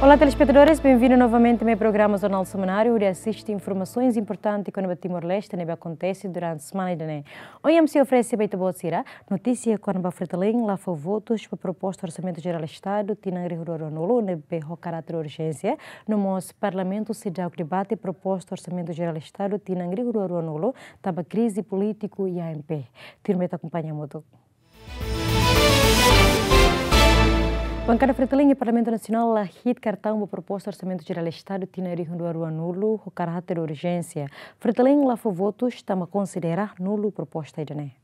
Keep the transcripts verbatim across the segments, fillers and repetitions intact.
Olá, telespetadores, benvindu novamente mai programa Jornál Semanáriu, hodi asiste informasoens importantes kona-ba Timor-Leste ne'ebé akontese durante semana ida-ne'e. Ohin ami sei oferese ba ita-boot sira notísia kona-ba FRETILIN la fó votus ba proposta Orsamentu Jerál Estadu tinan rihun rua ruanulu ne'ebé ho karáter urjénsia, no mós Parlamentu seidauk debate proposta Orsamentu Jerál Estadu tinan rihun rua ruanulu, tanba krize polítiku iha AMP. Tuirmai ita akompaña hamutuk. Bankada FRETILIN iha Parlamentu Nasionál la hi'it kartaun ba proposta Orsamentu Jerál Estadu tinan rihun rua ruanulu ho karáter urjénsia. FRETILIN la fó votus tanba konsidera nulu proposta ida-ne'e.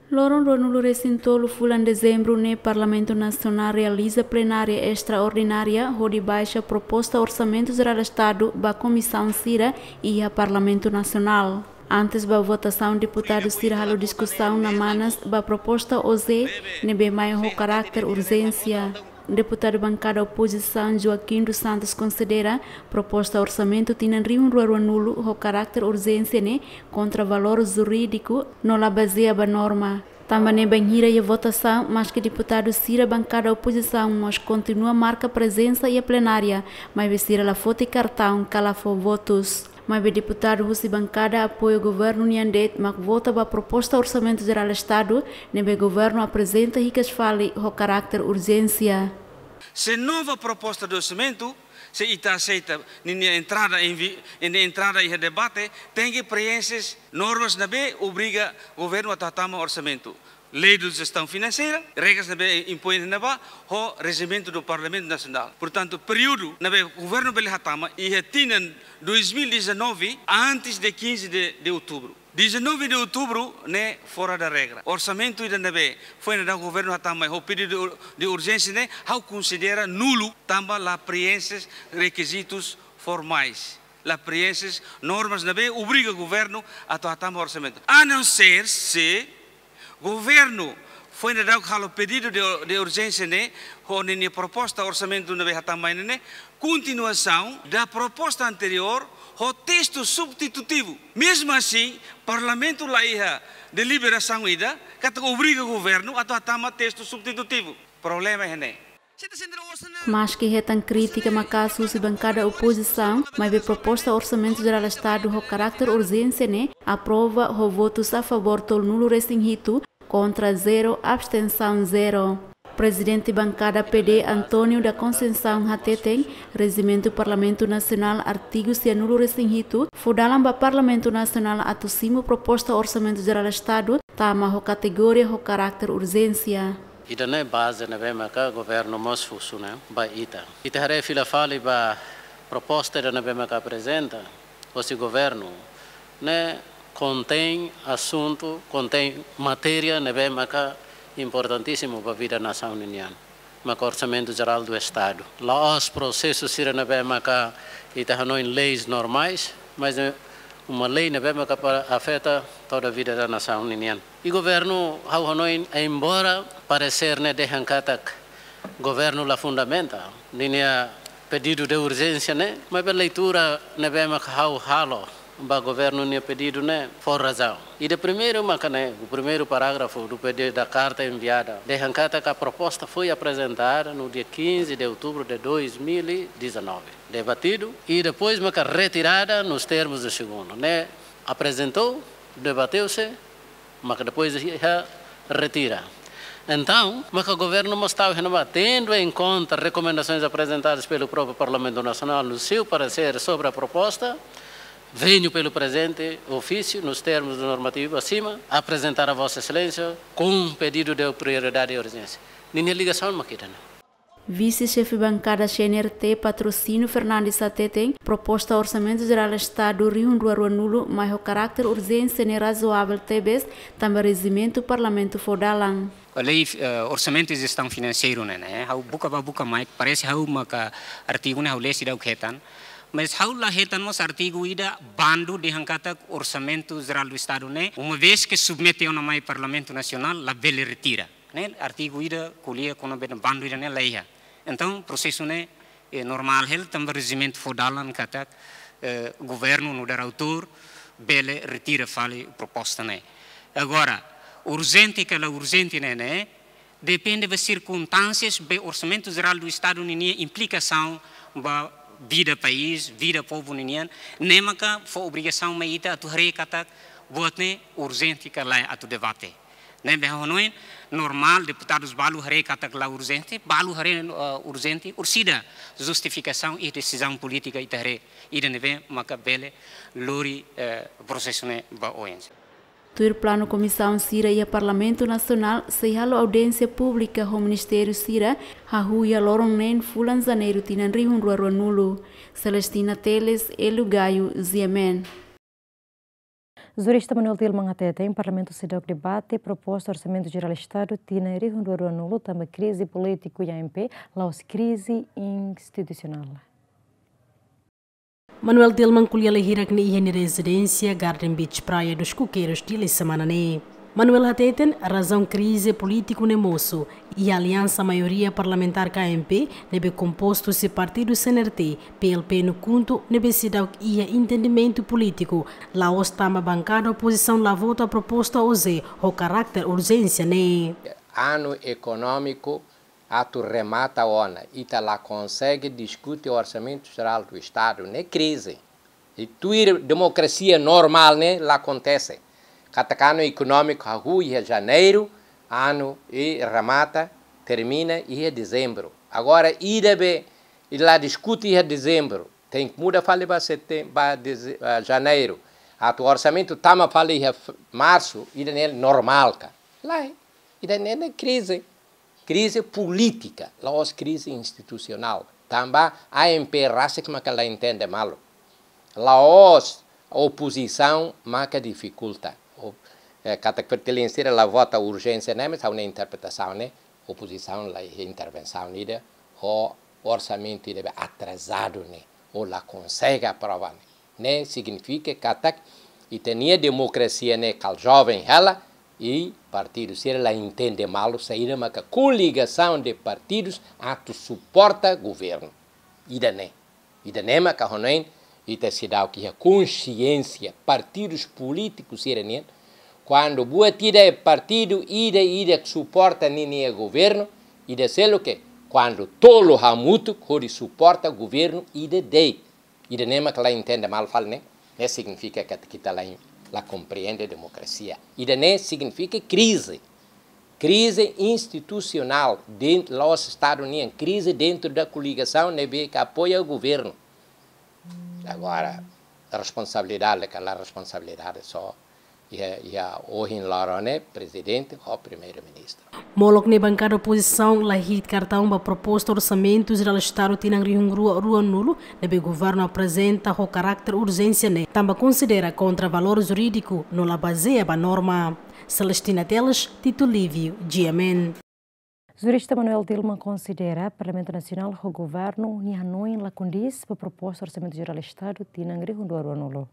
Loron ruanulu resin tolu fulan Dezembru ne'e Parlamentu Nasionál realiza plenária estraordinária hodi baixa proposta Orsamentu Jerál Estadu ba komisaun sira iha Parlamentu Nasionál. Antes ba votasaun, deputadu sira halo diskusaun na manas ba proposta O Z ne'ebé mai ho karáter urjénsia. Deputadu bankada opozisaun Joaquim dos Santos konsidera proposta orsamentu tinan rihun rua ruanulu ho karáter urjénsia ne'e kontra valór jurídiku no la bazeia ba norma. Tanba ne'e bainhira iha votasaun, maski deputadu sira bankada opozisaun mós kontinua marka prezensa iha plenária, maibé sira la foti kartaun ka la fó votus. Maibé deputadu husi bankada apoiu governu nian de'it mak vota ba proposta Orsamentu Jerál Estadu ne'ebé governu aprezenta hikas fali ho karáter urjénsia. Se nova proposta de orsamentu, se ita aseita ninia entrada em vi-, ninia entrada iha debate, tenke preenxe normas ne'ebé obriga governu atu hatama orsamentu. Lei de Gestão Financeira, regras ne'ebé impoin iha ne'ebá, ho rejimentu do Parlamentu Nasionál. Portantu, períodu ne'ebé governu bele hatama iha tinan dois mil e dezanove, antes de quinze de, de outubro. Dezanove de outubro ne'e fora da regra. Orsamentu ida ne'ebé foin daudauk governu hatama ho pedidu de ur-, de urjénsia ne'e, ha'u konsidera nulu, tanba la preenxe rekizitus formais. La preenxe normas ne'ebé obriga governu atu hatama orsamentu. A não ser se governu foin daudauk halo pedidu de, de urjénsia ne'e, ho ninia proposta orsamentu ne'ebé hatama ne'e, kontinuasaun da proposta anteriór ho testu substitutivu. Mezmu asin, Parlamentu la iha deliberasaun ida katak obriga governu atu hatama testu substitutivu. Problema iha ne'e. Maski hetan krítika maka'as husi bankada opozisaun, maibé proposta Orsamentu Jerál Estadu ho karáter urjénsia ne'e aprova ho votus a favór tolunulu resin hitu, kontra zero, abstensaun zero. Prezidente bankada P D, António da Conceição hateten, rejimentu Parlamentu Nasionál, artigu sianulu resin hitu, fó dalan ba Parlamentu Nasionál atu simu proposta Orsamentu Jerál Estadu, tama ho kategoria ho karáter urjénsia. Ida-ne'e baze ne'ebé maka governu mós husu ne'e ba ita. Ita haree fila fali ba proposta ida ne'ebé maka aprezenta hosi governu ne'e kontein asuntu, kontein matéria ne'ebé maka importantísimu ba vida nasaun ninian. Maka Orsamentu Jerál do Estadu. La'ós prosesu sira ne'ebé maka ita hanoin leis normais, mas é uma lei ne'ebé maka para afeta toda a vida da nasaun ninian. I governu, ha'u hanoin, embora paresér ne'e dehan katak governu la fundamenta ninia pedidu de urjénsia ne'e, maibé leitura ne'ebé maka ha'u halo ba governu nia pedidu ne'e fó razaun. Ida primeiru maka ne'e, o primeiro parágrafo do pedido da carta enviada, dehan katak a proposta foi apresentada no dia quinze de outubro de dois mil e dezanove, debatidu, e depois maka retirada nos termos do segundo, ne'e, aprezentou, debateu-se, maka depois iha retira. Entaun, maka governu mós tau iha ne'ebá, tendo em conta recomendações apresentadas pelo próprio Parlamento Nacional no seu parecer sobre a proposta, venho pelo presente ofício, nos termos do normativo acima, apresentar a Vossa Excelência com um pedido de prioridade e urgência. Ninia ligasaun mak ida-ne'e. Vise-xefe bankada C N R T, Patrocínio Fernandes hateten, proposta Orsamentu Jerál Estadu rihun rua ruanulu mai ho karáter urjénsia ne'e razoavel tebes, tanba rejimentu Parlamentu fó dalan. Lei, eh, Orçamento e Gestão Financeira ne'e, ne'e, ha'u buka ba buka mai, parese ha'u maka artigu ne'e ha'u lee seidauk hetan. Mas ha'u la hetan mós artigu ida bandu dehan katak Orsamentu Jerál do Estadu ne'e, uma vez que submete ona mai Parlamentu Nasionál, labele retira. Ne'e artigu ida ko'alia kona-ba bandu ida-ne'e la iha. Entaun, prosesu ne'e, eh, normál hela, tanba rejimentu fó dalan katak, eh, governu nu'udar autór bele retira fali proposta ne'e. Agora, urjente ka la urjente ne'e, ne'e, Depende ba sirkunstánsias, be Orsamentu Jerál do Estadu ninia implikasaun ba vida país, vida povu ninian, ne'e maka fó obrigasaun mai ita atu haree katak buat ne'e urjente ka lae atu debate. Ne'ebé ha'u hanoin normál, deputadus balu haree katak la urjente, balu haree, eh, urjente, orsida justifikasaun i desizaun polítika ita haree, ida ne'ebé maka bele lori, eh, prosesu ne'e ba oin. Tuir planu, komisaun sira iha Parlamentu Nasionál sei halo audiénsia públika ho ministériu sira hahú iha loron neen fulan Janeiru tinan rihun rua rua nulu. Celestina Teles, Elu Gayo, G M N. Jurista Manuel Tilman hateten, Parlamentu seidauk debate proposta Orsamentu Jerál Estadu tinan rihun rua rua nulu tanba krize polítiku iha A M P, la'ós krize institusionál. Manuel Tilman ko'alia lai hirak ne'e iha nia rezidénsia Garden Beach, Praia dos Coqueiros, Dili, semana ne'e. Manuel hateten, razaun krize polítiku ne'e mosu iha aliansa maioria parlamentár ka A M P, ne'ebé kompostu husi partidu C N R T, P L P no KHUNTO, ne'ebé seidauk iha entendimentu polítiku, la'ós tanba bankada opozisaun la vota proposta OJE ho karáter urjénsia ne'e. Anu ekonómiku atu remata ona, ita la konsege diskute Orsamentu Jerál do Estadu, ne'e krize. I tuir demokrasia normál ne'e la akontese. Katak anu ekonómiku hahú iha Janeiru, anu i remata, termina iha Dezembru. Agora, ida be, i la diskute iha Dezembru, tenke muda fali ba Setem-, ba Deze-, ah, Janeiru. Atu orsamentu tama fali iha f-, Marsu, ida ne'e normál ka? Lae, ida ne'e, ne'e krize. Krize polítika, la'ós krize institusionál. Tanba A M P rasik maka la entende malu. La'ós opozisaun maka difikulta. O, eh, katak Fretilin sira la vota urjénsia ne'e, mas ha'u-nia interpretasaun ne'e, opozisaun la iha intervensaun ida, ho orsamentu ida be atrasadu ne'e, ou la konsege aprova ne'e. Ne'e signifika katak ita-nia demokrasia ne'e kal joven hela, i partidu sira la entende malu saida maka koligasaun de partidus atu suporta governu. Ida ne'e, ida ne'e maka ha'u hanoin, ita seidauk iha konsiénsia partidus polítikus sira-nian, kuandu buat ida partidu ida, ida suporta ninia governu, ida seluk, kuandu tolu hamutuk hodi suporta governu ida de'it. Ida ne'e maka la entende malu fali ne'e, ne'e signifika katak ita la in-, la komprende demokrasia. Ida ne'e signifika krize. Krize institusionál dentru, la'ós Estadu nian, krize dentru da koligasaun ne'ebé ke apoia governu. Agora, responsabilidade ka la responsabilidade só iha, iha ohin loron ne'e prezidente ho primeiru-ministru. Molok ne'e bankada opozisaun la hi'it kartaun ba proposta Orsamentu Jerál Estadu tinan rihun rua rua nulu, ne'ebé governu aprezenta ho karáter urjénsia ne'e, tanba konsidera kontra valór jurídiku no la bazeia ba norma. Celestina Teles, Tito Livio, G M N. Jurista Manuel Tilman konsidera Parlamentu Nasionál ho governu nia hanoin la kondís ba proposta Orsamentu Jerál Estadu tinan rihun rua rua nulu.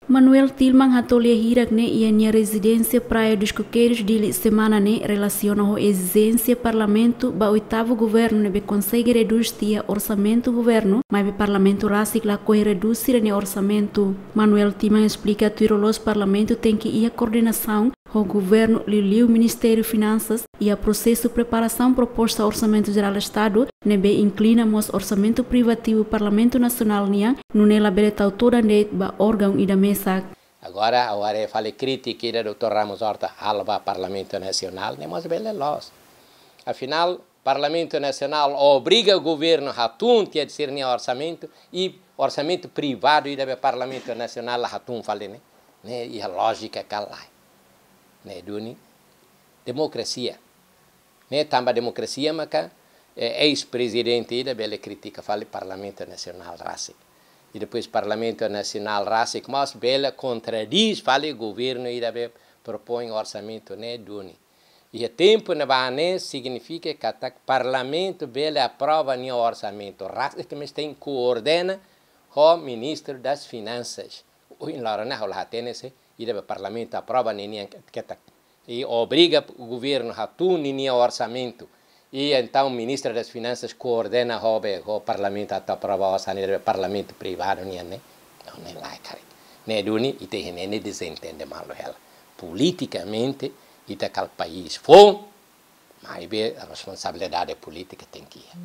Manuel Tilman hato'o lia hirak ne'e iha nia rezidénsia Praia dos Coqueiros, Dili, semana ne'e, relasiona ho ezijénsia Parlamentu ba oitavu governu ne'ebé konsege redús tiha orsamentu governu, maibé Parlamentu rasik lakohi redús sira-nia orsamentu. Manuel Tilman esplika tuir loloos Parlamentu tenke iha koordenasaun ho governu, liuliu Ministériu Finansas, iha prosesu preparasaun proposta Orsamentu Jerál Estadu, ne'ebé inklui mós orsamentu privativu Parlamentu Nasionál nian, nune'e labele tau todan de'it ba órgaun ida mesak. Agora, ha'u haree fali krítika ida doutór Ramos Horta halo ba Parlamentu Nasionál, ne'e mós bele loos. Afinál, Parlamentu Nasionál obriga governu hatún tiha sira-nia orsamentu, i orsamentu privadu ida be Parlamentu Nasionál la hatún fali ne'e. Ne'e iha lójika ka lae? Ne'e duni demokrasia. Ne'e tanba demokrasia maka, eh, eis-prezidente ida bele kritika fali Parlamentu Nasionál rasik. I depois Parlamentu Nasionál rasik mós bele kontradís fali governu ida be propoin orsamentu, ne'e duni. Iha tempu ne'ebá ne'e signifika katak Parlamentu bele aprova nia orsamentu rasik, mas tenke koordena ho Ministru das Finansas. Ohin loron ne'e ha'u la hatene se ida be Parlamentu aprova ninian ketak. I obriga governu hatún ninia orsamentu. I entaun Ministru das Finansas koordena ho be, ho Parlamentu atu aprova orsamentu, ida be Parlamentu privadu nian ne'e. Não, ne'e lae karik. Ne'e duni, ita-nia ne'e dezentende malu hela. Politikamente, Ita kala país foun, maibé responsabilidade polítika tenke iha.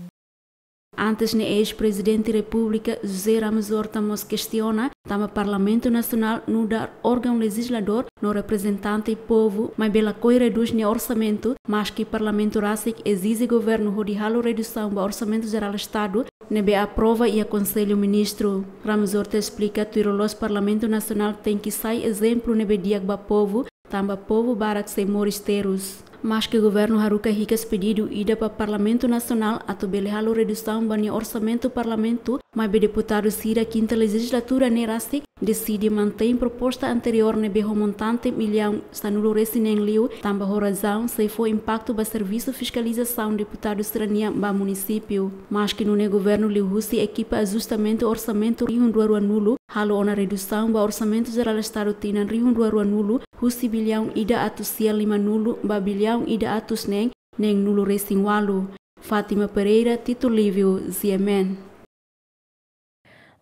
Antes ne'e, eis-Prezidente Repúblika José Ramos Horta mós kestiona tanba Parlamentu Nasionál nu'udar órgaun lejizladór no reprezentante povu, maibé lakohi redús nia orsamentu, maski Parlamentu rasik ezije governu hodi halo redusaun ba Orsamentu Jerál Estadu ne'ebé aprova iha Konsellu Ministru. Ramos Horta esplika, tuir loloos Parlamentu Nasionál tenke sai ezemplu ne'ebé di'ak ba povu, tanba povu barak sei moris terus. Maski governu haruka hikas pedidu ida ba Parlamentu Nasionál atu bele halo redusaun ba nia orsamentu parlamentu, maibé deputadu sira kinta lejizlatura ne'e rasik deside mantein proposta anteriór ne'ebé ho montante millaun sanulu-resin-neen liu, tanba ho razaun sei fó impaktu ba servisu fiskalizasaun deputadu sira-nian ba munisípiu. Maski nune'e, governu liuhusi ekipa ajustamentu orsamentu rihun rua rua nulu halo ona redusaun ba Orsamentu Jerál Estadu tinan rihun rua rua nulu, husi billaun ida atus sia lima nulu ba billaun ida atus neen neen nulu-resin-ualu. Fátima Pereira, Tito Lívio, G M N.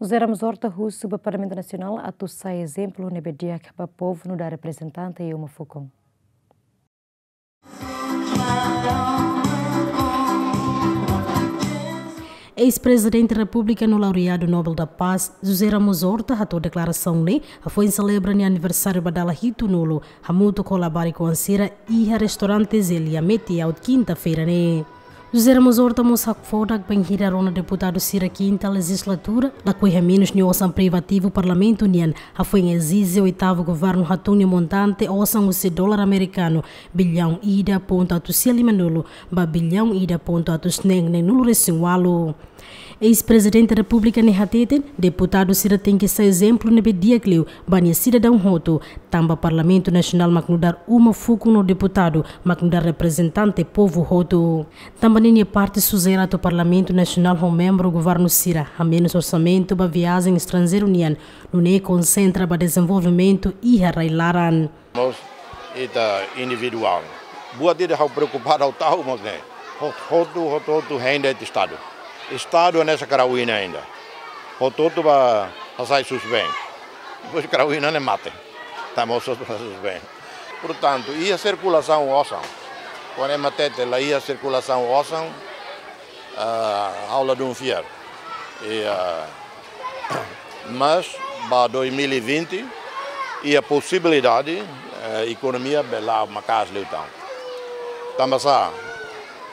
José Ramos Horta husu ba Parlamentu Nasionál atu sai ezemplu ne'ebé di'ak ba povu nu'udar reprezentante iha uma fukun. Eis-Prezidente Repúblika no laureadu Nobel da Paz, José Ramos Horta, hato'o deklarasaun ne'e hafoin selebra nia aniversáriu ba dala hitunulu, hamutuk ho labarik-oan sira iha restaurante Zelia Metiaut, kinta-feira ne'e. José Ramos Horta mós hakfodak bainhira rona deputadu sira kinta lejizlatura lakohi hamenus nia osan privativu parlamentu nian, hafoin ezije oitavu governu hatun nia montante osan husi dolar amerikanu billaun ida pontu atus sia lima nulu ba billaun ida pontu atus neen neen nulu-resin-ualu. Eis-Prezidente Repúblika ne'e hateten, deputadu sira tenke sai ezemplu ne'ebé di'ak liu ba nia sidadaun hotu, tanba Parlamentu Nasionál mak nu'udar uma fukun no deputadu mak nu'udar reprezentante povu hotu. Tanba ne'e nia parte sujere atu Parlamentu Nasionál ho membru governu sira hamenus orsamentu ba viajen estranjeiru nian, nune'e konsentra ba dezenvolvimentu iha rai-laran. Mós ita individuál. Buat ida ha'u preokupadu ha'u ta'uk mós ne'e. Hot-, hotu, hotu, hotu hein de'it Estadu. Estadu hanesan karau-inan ida. Hotu, hotu bá hasai susben. Depois karau-inan ne'e mate. Tanba hotu, hotu bá susben. Portantu, iha sirkulasaun osan. Kuandu ema hatete la iha sirkulasaun osan, ah, ha'u ladún fiar. I, ah, mas ba dois mil e vinte, iha posibilidade, eh, ekonomia bele la'o maka'as liután. Tanba sá,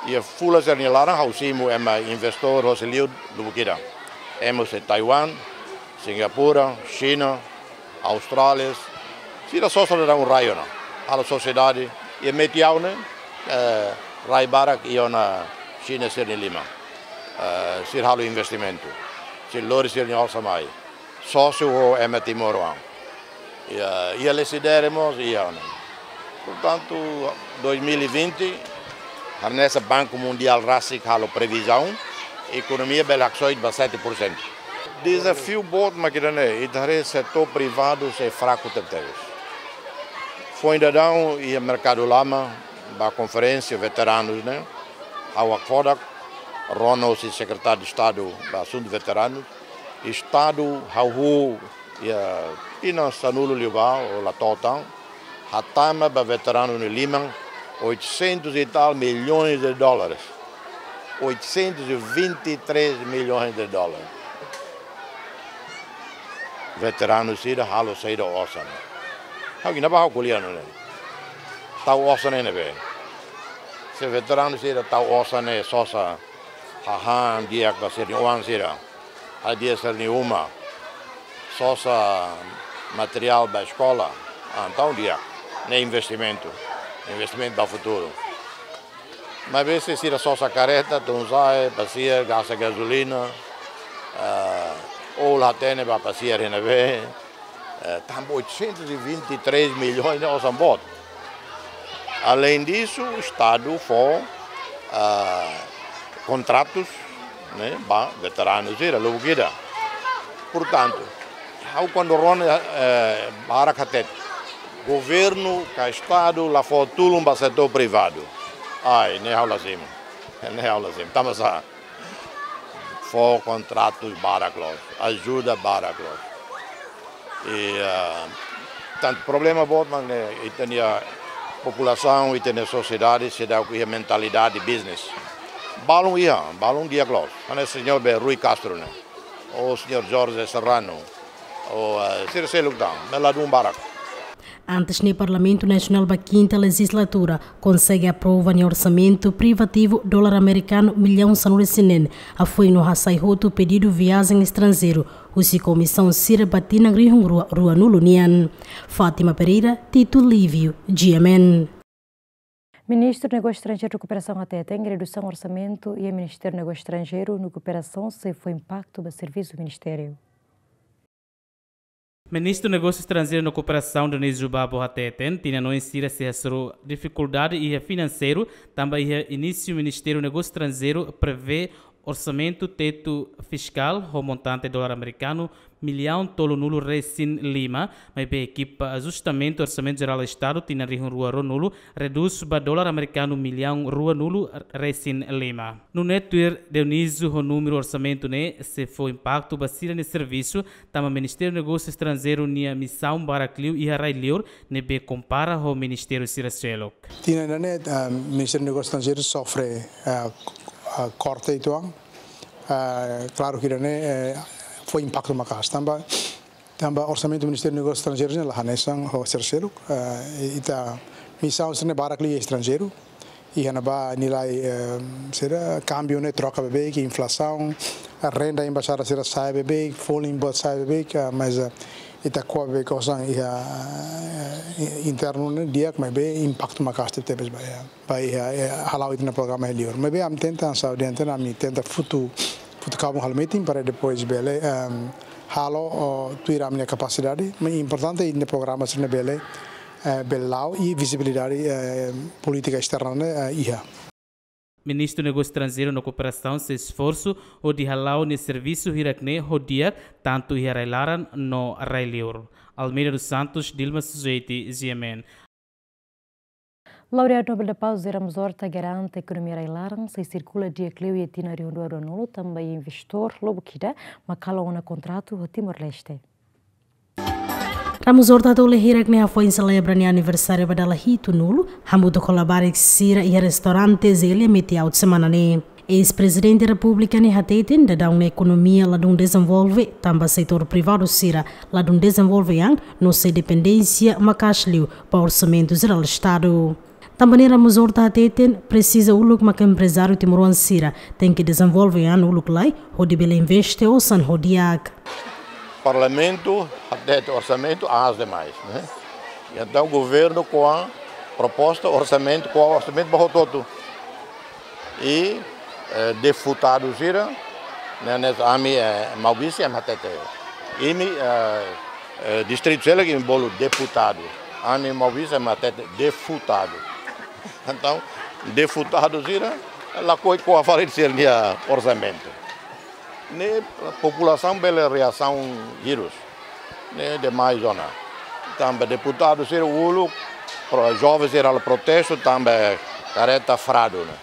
iha fulan sira-nia laran ha'u simu ema investór hosi li'ur lubuk ida. Ema husi Taiwan, Singapura, Xina, Austrália, sira sosa daudaun rai ona, halo sosiedade, iha Metiaut ne'e, eh, rai barak iha ona Xina sira-nia liman. Eh, sira halo investimentu, sira lori sira-nia oan mai. Sósiu ho ema timoroan. Iha, iha Lecidere mós iha ona. Portantu, dois mil e vinte, hanesan Banku Mundiál rasik halo previzaun, ekonomia bele haksoit ba sete por cento. Dezafiu boot mak ida-ne'e, ita haree setór privadu sei fraku tebetebes. Foin daudaun iha Merkadu Lama, ba konferénsia veteranus ne'e, ha'u hakfodak, rona husi Sekretáriu Estadu ba Asuntu Veteranus, Estadu hahú iha tinan sanulu liubá, ou la to'o tan, hatama ba veteranu nia liman oitocentos e tal milhões de dólares. Oitocentos e vinte e três milhões de dólares. Veteranu sira halo saida osan. Ha'u gina ba ha'u ko'alia nune'e. Tau osan ne'ebé. Se veteranu sira tau osan ne'e sosa hahán di'ak ba sira-nia oan sira. Hadi'a sira-nia uma. Sosa materiál ba eskola. Ah, entaun di'ak. Ne'e investimentu. Investimentu ba futuru. Maibé se sira sosa kareta, tun-sa'e, pasiar, gasta gazolina, ah, ou la hatene ba pasiar iha ne'ebé, eh, tanba oitocentos e vinte e três milhões ne'e osan boot. Além disso, Estadu fó, ah, kontratus, ne'e, ba veteranu sira, lubuk ida. Portantu, ha'u kuandu rona, eh, barak hatete, governu ka Estadu la fó tulun ba setór privadu. Ai, ne'e ha'u la simu. Ne'e ha'u la simu. Tanba sá, fó kontratus barak loos, ajuda barak loos. I, ah, tantu problema boot mak ne'e, ita-nia Populasaun ita-nia sosiedade seidauk iha mentalidade business. Balun iha, balun di'ak loos. Hanesan señór be Rui Castro ne'e, ou señór Jorge Serrano, ou, eh, sira seluk tan, ne'e ladún barak. Antes ne'e Parlamentu Nasionál ba kinta lejizlatura konsege aprova nia orsamentu privativu dolar amerikanu millaun sanulu-resin-neen, hafoin no hasai hotu pedidu viajen estranjeiru husi komisaun sira ba tinan rihun rua, ruanulu nian. Fátima Pereira, Tito Lívio, G M N. Ministru Negósiu Estranjeiru no Kooperasaun hateten, redusaun orsamentu iha Ministériu Negósiu Estranjeiru no Kooperasaun sei fó impaktu ba servisu ministériu. Ministru Negósiu Estranjeiru no Kooperasaun Dionísio Babo hateten, tinan oin sira sei hasoru difikuldade iha finanseiru, tanba iha inísiu Ministériu Negósiu Estranjeiru prevee orsamentu tetu fiskál ho montante dolar amerikanu millaun tolunulu-resin-lima, maibé ekipa ajustamentu Orsamentu Jerál Estadu tinan rihun rua ruanulu redús ba dolar amerikanu millaun ruanulu-resin-lima. Nune'e tuir Dionísio, ho númeru orsamentu ne'e sei fó impaktu ba sira-nia servisu, tanba Ministériu Negósiu Estranjeiru nia misaun barak liu iha rai-liur, ne'ebé kompara ho ministériu sira seluk. Tinan ida-ne'e, ah, Ministériu Negósiu Estranjeiru sofre, ah, ah, korte uitoan. Ah, klaru ke ida-ne'e, eh, fó impaktu maka'as. Tanba, tanba orsamentu Ministériu Negósiu Estranjeiru ne'e la hanesan ho sira seluk. Ah, i-, ita misaun sira-ne'e barak liu iha estranjeiru. Iha ne'ebá nilai, eh, sira, kámbiu ne'e troka beibeik, inflasaun, renda embaixada sira sa'e beibeik, folin boot sa'e beibeik, ah, mas, eh, ita ko'a beibeik osan iha, eh, internu ne'e di'ak, maibé impaktu maka'as tebes ba iha, ba iha, eh, hala'o ita-nia programa iha liur. Maibé ami tenta, saúde tenta, ami tenta futu, futu kaben halo meeting para depois bele, ehm, halo, oh, tuir ami-nia kapasidade. Mas importante ita-nia programa sira-ne'e bele, eh, bele la'o i vizibilidade, eh, polítika esterna ne'e, eh, iha. Ministru Negósiu Estranjeiru no Kooperasaun sei esforsu hodi hala'o nia servisu hirak-ne'e ho di'ak, tantu iha rai-laran no rai-liur. Almeida dos Santos, Dilma Sujeiti, G M N. Laureadu Nobel da Paz José Ramos Horta garante ekonomia rai-laran sei sirkula di'ak liu iha tinan rihun rua ruanulu, tanba iha investór lubuk ida mak halo ona kontratu ho Timor-Leste. Ramos Horta hato'o lia hirak-ne'e hafoin selebra nia aniversáriu ba dala hitunulu, hamutuk ho labarik sira iha restaurante Zelia Metiaut semana ne'e. Eis-Prezidente Repúblika ne'e hateten, daudaun ne'e ekonomia ladún dezenvolve, tanba setór privadu sira ladún dezenvolve an, no sei dependénsia maka'as liu ba Orsamentu Jerál Estadu. Tanba ne'e Ramos Horta hateten, presiza uluk maka emprezáriu timoroan sira tenke dezenvolve an uluk lai, hodi bele investe osan ho di'ak. Parlamentu hatete orsamentu aas demais, ne'e? Entaun governu ko'a proposta orsamentu, ko'a orsamentu ba hotu-hotu. I, eh, deputadu sira, ne'e, ne'e ami, eh, Maubisse, ami hatete. Imi, eh, eh, distritu seluk imi bolu deputadu. Ami Maubisse, ami hatete deputadu. Entaun, deputadu sira, lakohi ko'a fali sira-nia orsamentu. Ne'e populasaun bele reasaun hirus. Ne'e demais ona. Tanba deputadu sira uluk, pro-, joven sira halo protestu, tanba kareta fradu ne'e.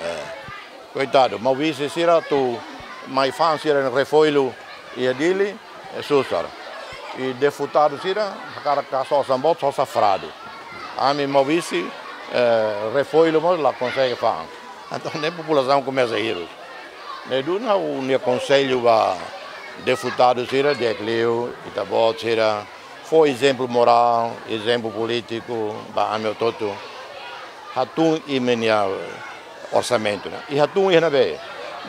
Eh, koitadu, Maubisse sira atu mai fa'an sira-nia refoilu iha Dili, eh, susar. I deputadu sira, hakarak kasa osan boot, sosa fradu. Ami Maubisse, eh, refoilu mós la konsege fa'an. Entaun, ne'e populasaun komesa hirus. Ne'e duni ha'u-nia konsellu ba deputadu sira, di'ak liu, ita-boot sira, fó ezemplu morál, ezemplu polítiku, ba ami hotu-hotu. Hatún imi-nia orsamentu ne'e. I hatún iha ne'ebé?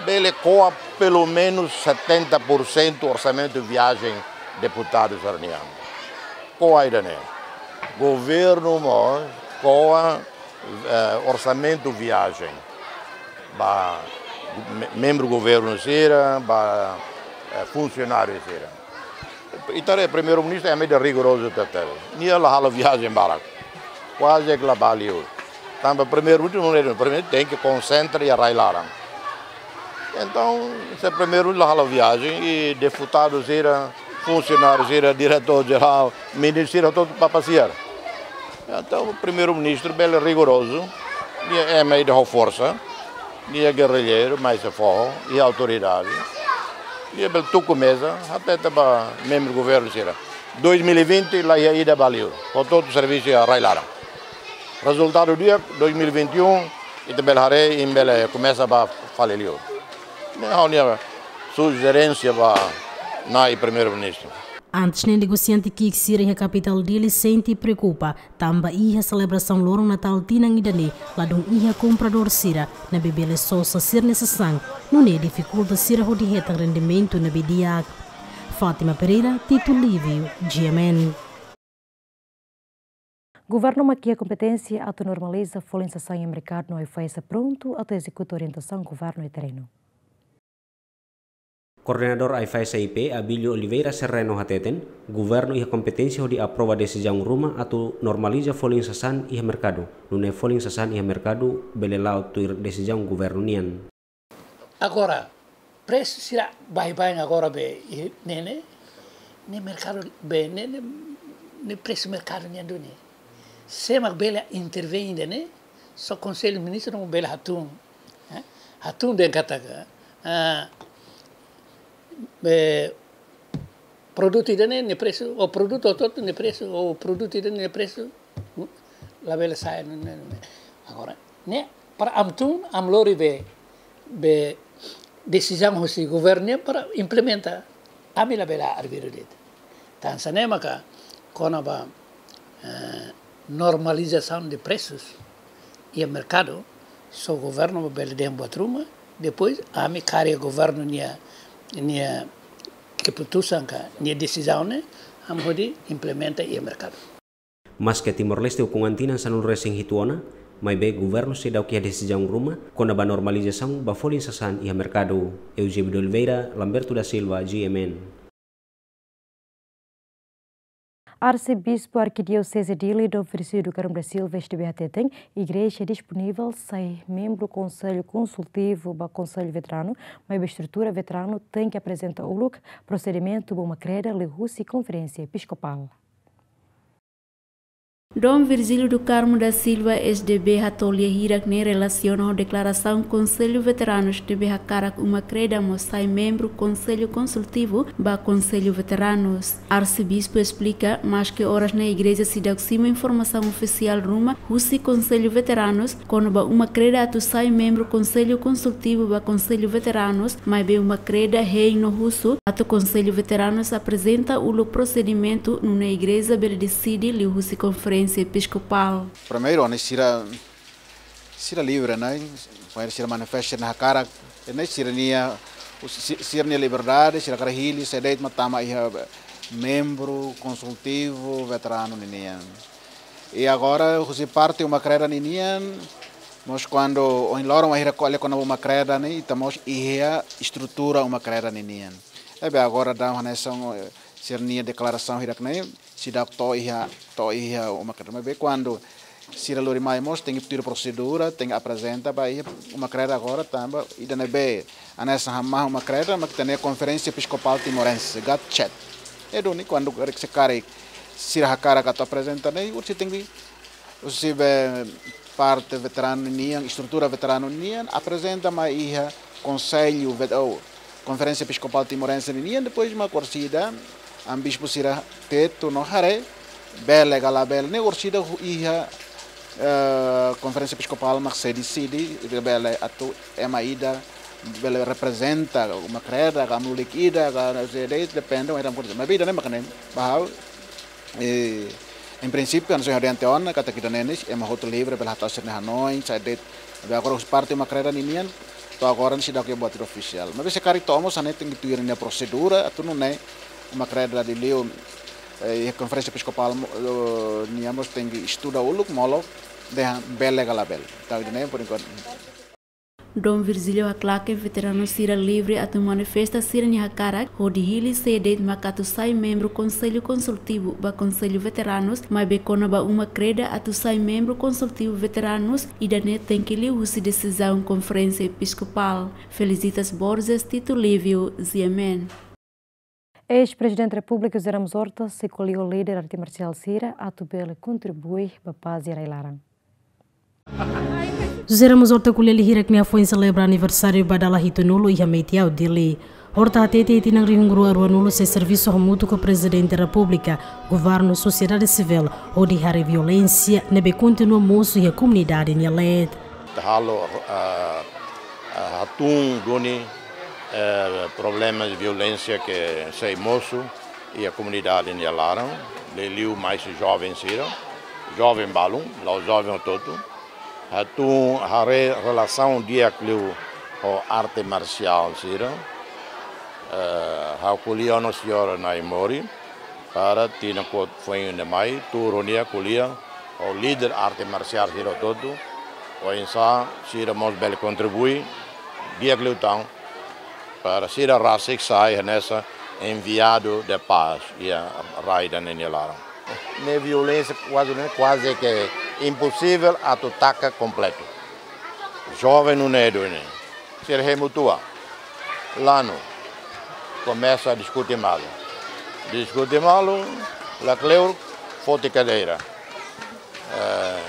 Bele ko'a pelumenus setenta por cento orsamentu viajen deputadu sira-nian. Ko'a ida-ne'e. Governu mós ko'a, eh, orsamentu viajen ba me-, membru governu sira, ba, eh, funsionáriu sira. Ita haree Primeiru-Ministru ema ida rigorozu tebes. Nia la halo viajen barak. Kuaze ke la bá liu. Tanba Primeiru-Ministru, Primeiru tenke konsentra iha rai-laran. Entaun, se Primeiru-Ministru la halo viajen, i deputadu sira, funsionáriu sira, diretór jerál, ministru sira, hotu-hotu bá pasiar. Entaun, Primeiru-Ministru bele rigorozu, nia ema ida ho forsa, nia gerrilleiru, mais sei foho, i autoridade. Nia bele tuku meza, hatete ba membru governu sira. Dois mil e vinte, la iha ida bá liu, hotu-hotu servisu iha rai-laran. Rezultadu di'ak dois mil e vinte e um, ita bele haree, imi bele komesa ba fali liu. Ne'e ha'u-nia sujerénsia ba Na'i Primeiru-Ministru. Antes ne'e negosiante ki'ik sira iha kapitál Dili sente preokupa, tanba iha selebrasaun loron Natál tinan ida-ne'e, ladún iha kompradór sira, ne'ebé bele sosa sira-nia sasán, nune'e difikulta sira hodi hetan rendimentu ne'ebé di'ak. Fátima Pereira, Tito Lívio, G M N. Governu mak iha kompeténsia atu normaliza folin sasán iha merkadu no AIFAESA prontu atu ezekuta orientasaun governu iha terrenu. Koordenadór AIFAESA I P, Abílio Oliveira Serreno hateten, governu iha kompeténsia hodi aprova desizaun ruma atu normaliza folin sasán iha merkadu, nune'e folin sasán iha merkadu bele la'o tuir desizaun governu nian. Agora, presu sira baibain agora be, i, ne'e, ne'e, ne'e merkadu be, ne'e, ne'e, ne'e presu merkadu nian duni. Sé mak bele intervein ida-ne'e, só Konsellu Ministru mak bele hatún. Eh? Hatún dehan katak, ah, be, produtu ida-ne'e nia presu, ou produtu hotu-hotu nia presu, ou produtu ida-ne'e nia presu, labele sa'e, ne'e, ne'e, ne'e. Agora, ne'e, para ami tun, ami lori be, be desizaun husi governu nian para implementa. Ami labele arbiru de'it. Tan hanesan ne'e maka, kona-ba, eh, normalizasaun de presus iha merkadu, só governu bele dehan buat ruma, depois ami kaer governu nia, nia keputusan ka, nia desizaun ne'e, ami hodi implementa iha merkadu. Maske Timor-Leste ukun an tinan sanulu resin hitu ona, maibé governu seidauk iha desizaun ruma, kona-ba normalizasaun ba folin sasán iha merkadu. Eusébio de Oliveira, Lamberto da Silva, G M N. Arsebispu Arkidioseze Dili, Dom Virgílio do Carmo da Silva, S D B hateten, Igreja disponivel sai membru Konsellu Konsultivu ba Konsellu Veteranu, maibé estrutura veteranu tenke aprezenta uluk prosedimentu ba uma kreda liuhusi Konferénsia Episkopál. Dom Virgílio do Carmo da Silva, S D B, hato'o lia hirak-ne'e relasiona ho deklarasaun Konsellu Veteranus ne'ebé hakarak uma kreda mós sai membru Konsellu Konsultivu ba Konsellu Veteranus. Arsebispu esplika, maske oras ne'e Igreja seidauk simu informasaun ofisiál ruma husi Konsellu Veteranus kona-ba uma kreda atu sai membru Konsellu Konsultivu ba Konsellu Veteranus, maibé uma kreda hein no husu atu Konsellu Veteranus aprezenta uluk prosedimentu nune'e Igreja bele deside liuhusi Konferénsia Episkopál. Primeiru, ne'e sira, sira livre, ne'e? Primeiru sira manifesta nia hakarak, ne'e sira-nia, si-, sira-nia liberdade, sira hakarak hili sé de'it mak tama iha membru konsultivu veteranu ninian. I agora, husi parte uma kreda ninian, mós kuandu ohin loron wainhira ko'alia kona-ba uma kreda ne'e, ita mós iha estrutura uma kreda ninian. Ne'ebé agora daudaun hanesan, eh, sira-nia deklarasaun hirak-ne'e, seidauk to'o iha, to'o iha uma kreda. Maibé kuandu sira lori mai mós tenke tuir prosedura, tenke aprezenta ba iha uma kreda agora tanba ida ne'ebé hanesan hamahon uma kreda mak ita-nia Konferénsia Episkopál Timorense, GATCHET. Ne'e duni kuandu karik se karik sira hakarak atu aprezenta ne'e, orsida tenke, orsida be parte veteranu nian, estrutura veteranu nian, aprezenta mai iha Konsellu vet-, ou Konferénsia Episkopál Timorense nian, depois mak orsida, ami bispu sira tetu no haree, bele ka labele, ne'e orsida hu-, iha, eh, Konferénsia Episkopál mak sei deside, ita bele atu ema ida, bele reprezenta uma kreda, ka mulik ida, ka sé de'it, depende, mas ram kursa. Mas vida ne'e mak ne'e, ba ha'u, eh, em princípio, hanesan ohin ha'u dehan tiha ona, katak ida-ne'e ne'e, ema hotu livre, bele hatán sira-nia hanoin, sé de'it, be agora husi parte uma kreda ninian, to'o agora ne'e seidauk iha buat ida ofisiál. Mas se karik to'o mós hanesan ne'e tenke tuir nia prosedura, atu nune'e uma kreda liuliu, eh, iha Konferénsia Episkopál mo-, eh, nian mós tenke estuda uluk, molok, dehan bele ka labele. Entaun, ida-ne'e, por enquanto. Dom Virgílio haklaken veteranu sira livre atu manifesta sira-nia hakarak, hodi hili sé de'it mak atu sai membru Konsellu Konsultivu ba Konsellu Veteranus, maibé kona-ba uma kreda atu sai membru Konsultivu Veteranus, ida-ne'e tenke liuhusi desizaun Konferénsia Episkopál. Felicitas Borges, Tito Lívio, G M N. Eis-Prezidente Repúblika José Ramos Horta sei ko'alia ho líder arte marsiál sira atu bele kontribui ba pás iha rai-laran. José Ramos Horta ko'alia lia hirak-ne'e hafoin selebra aniversáriu ba dala hitunulu iha Meitiau, Dili. Horta hatete iha tinan rihun rua ruanulu sei servisu hamutuk ho Prezidente Repúblika, Governu, sosiedade sivíl, hodi haree violénsia ne'ebé kontinua mosu iha komunidade nia leet. Halo, ah, ah, hatún duni, eh, problema de violénsia ke sei mosu iha komunidade nia laran, liuliu mais joven sira, joven balun, la'ós joven hotu-hotu. Hatún haree relasaun di'ak liu ho arte marsiál sira. Eh, ha'u ko'alia ho señora Naimori, para tinan kuat foin ne'e mai, tuur ho nia ko'alia ho líder arte marsiál sira hotu-hotu, oinsá sira mós bele kontribui di'ak liután, para sira rasik sai hanesan enviadu de paz iha rai ida-ne'e nia laran. Ne'e violénsia kuaze, ne'e kuaze ke imposivel atu taka kompletu. Joven nune'e duni, sira hemu tua. Lanu, komesa diskute malu. Diskute malu, la kleur, foti kadeira. Eh,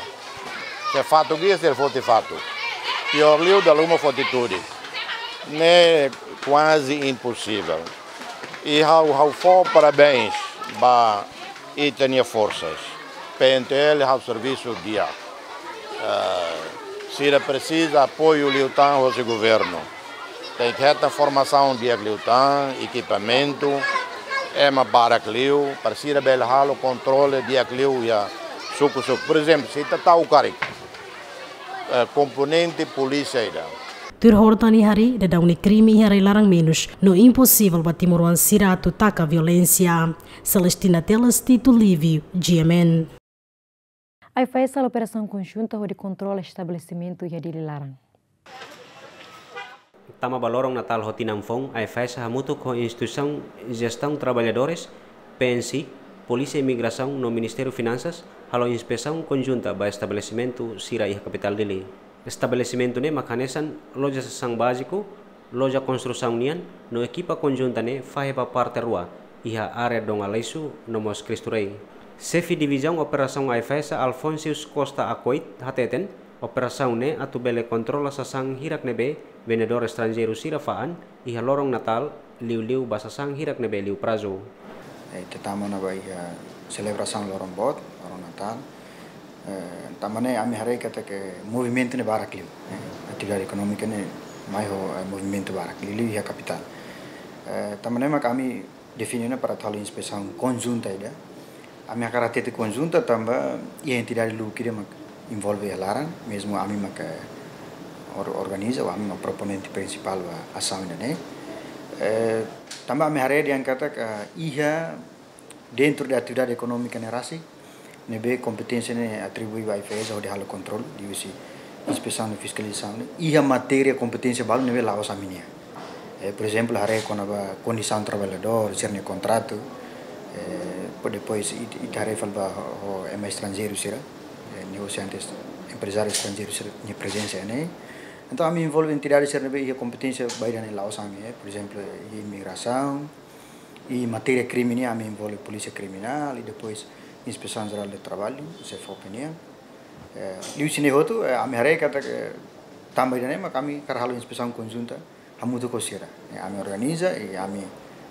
se fatuk iha, sira foti fatuk. Piór liu, dala ruma foti tudik. Ne'e kuaze imposivel. I ha'u, ha'u fó parabéns ba ita-nia forsas. P N T L halo servisu di'ak. Eh, sira presiza apoiu liután hosi governu. Tenke hetan formasaun di'ak liután, ekipamentu, ema barak liu, para sira bele halo kontrole di'ak liu iha suku-suku. Por ezemplu, se ita tau karik, eh, komponente polísia ida. Tuir horta nia harii, daudaun ne'e krime iha rai-laran menus, no imposivel ba timoroan sira atu taka violénsia. Celestina Teles, Tito Livio, G M N. AIFAESA halo operasaun konjunta hodi kontrola estabelesimentu iha Dili laran. Tama ba loron Natál ho tinan foun, AIFAESA hamutuk ho Instituisaun Jestaun Traballadores, P N C, Polísia Imigrasaun no Ministériu Finansas halo inspesaun konjunta ba estabelesimentu sira iha kapitál Dili. Estabelesimentu ne'e mak hanesan loja sasán báziku, loja konstrusaun nian, no ekipa konjunta ne'e fahe ba parte rua, iha área Dom Aleixo no mós Cristo Rei. Xefe Divizaun Operasaun AIFAESA, Alfonsius Costa Acoit, hateten, operasaun ne'e atu bele kontrola sasán hirak ne'ebé vendedór estranjeiru sira fa'an iha loron Natál, liuliu ba sasán hirak ne'ebé liu prazu. Eh, ita tama ona ba iha selebrasaun loron boot, loron Natál. Eh, tanba ne'e ami haree katak movimentu ne'e barak liu. Eh, atividade ekonómika ne'e mai ho, eh, movimentu barak liu, liu iha kapitál. Eh, tanba ne'e mak ami define ona para atu halo inspesaun konjunta ida. Ami hakarak hatete konjunta tanba iha entidade lubuk ida mak envolve iha laran, mezmu ami mak, eh, or-, organiza, ou ami mak proponente prinsipál ba asaun ida-ne'e. Eh, tanba ami haree dehan katak, eh, iha dentro de atividade ekonómika ne'e rasik, ne'ebé kompeténsia ne'e atribui ba AIFAESA hodi halo kontrolu, liuhusi inspesaun no fiskalizasaun ne'e, iha matéria kompeténsia balu ne'ebé la'ós ami-nian. Eh, por ezemplu, haree kona-ba kondisaun traballadór, sira-nia kontratu, eh, po-, depois it-, ita haree fali ba ho, ho ema estranjeiru sira, eh, negosiantes, emprezáriu estranjeiru sira-nia prezensa iha ne'e. Entaun, ami envolve entidade sira ne'ebé iha kompeténsia ba ida-ne'e la'ós ami, eh, por ezemplu, iha imigrasaun, i matéria krime nian ami envolve Polísia Kriminál, i depois Inspesaun Jerál de Traballu, SEFOPE nian. Eh, liuhusi ne'e hotu, eh, ami haree katak, eh, tanba ida-ne'e mak ami hakarak halo inspesaun konjunta hamutuk ho sira. Eh, ami organiza, i ami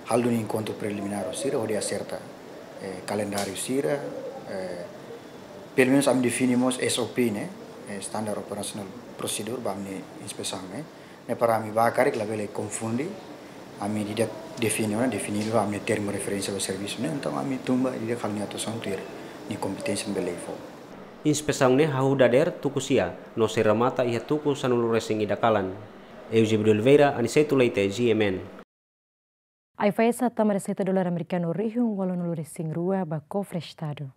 halo enkontru preliminár ho sira, hodi aserta, eh, kalendáriu sira, eh, pelumenus ami define mós S O P ne'e, eh, Standard Operational Procedure, ba ami-nia inspesaun ne'e. Ne'e para ami bá karik labele konfunde, ami ida define ona, define ba ami-nia termu referénsia ba servisu ne'e, entaun ami tun ba ida halo nia atuasaun tuir nia kompeténsia bele fó. Inspesaun ne'e hahú dadeer tuku sia, no sei remata iha tuku sanulu-resin-ida kalan. Eusébio de Oliveira, Aniceto Leite, G M N. AIFAESA tama reseita dolar amerikanu rihun ualunulu-resin-rua ba kofre Estadu.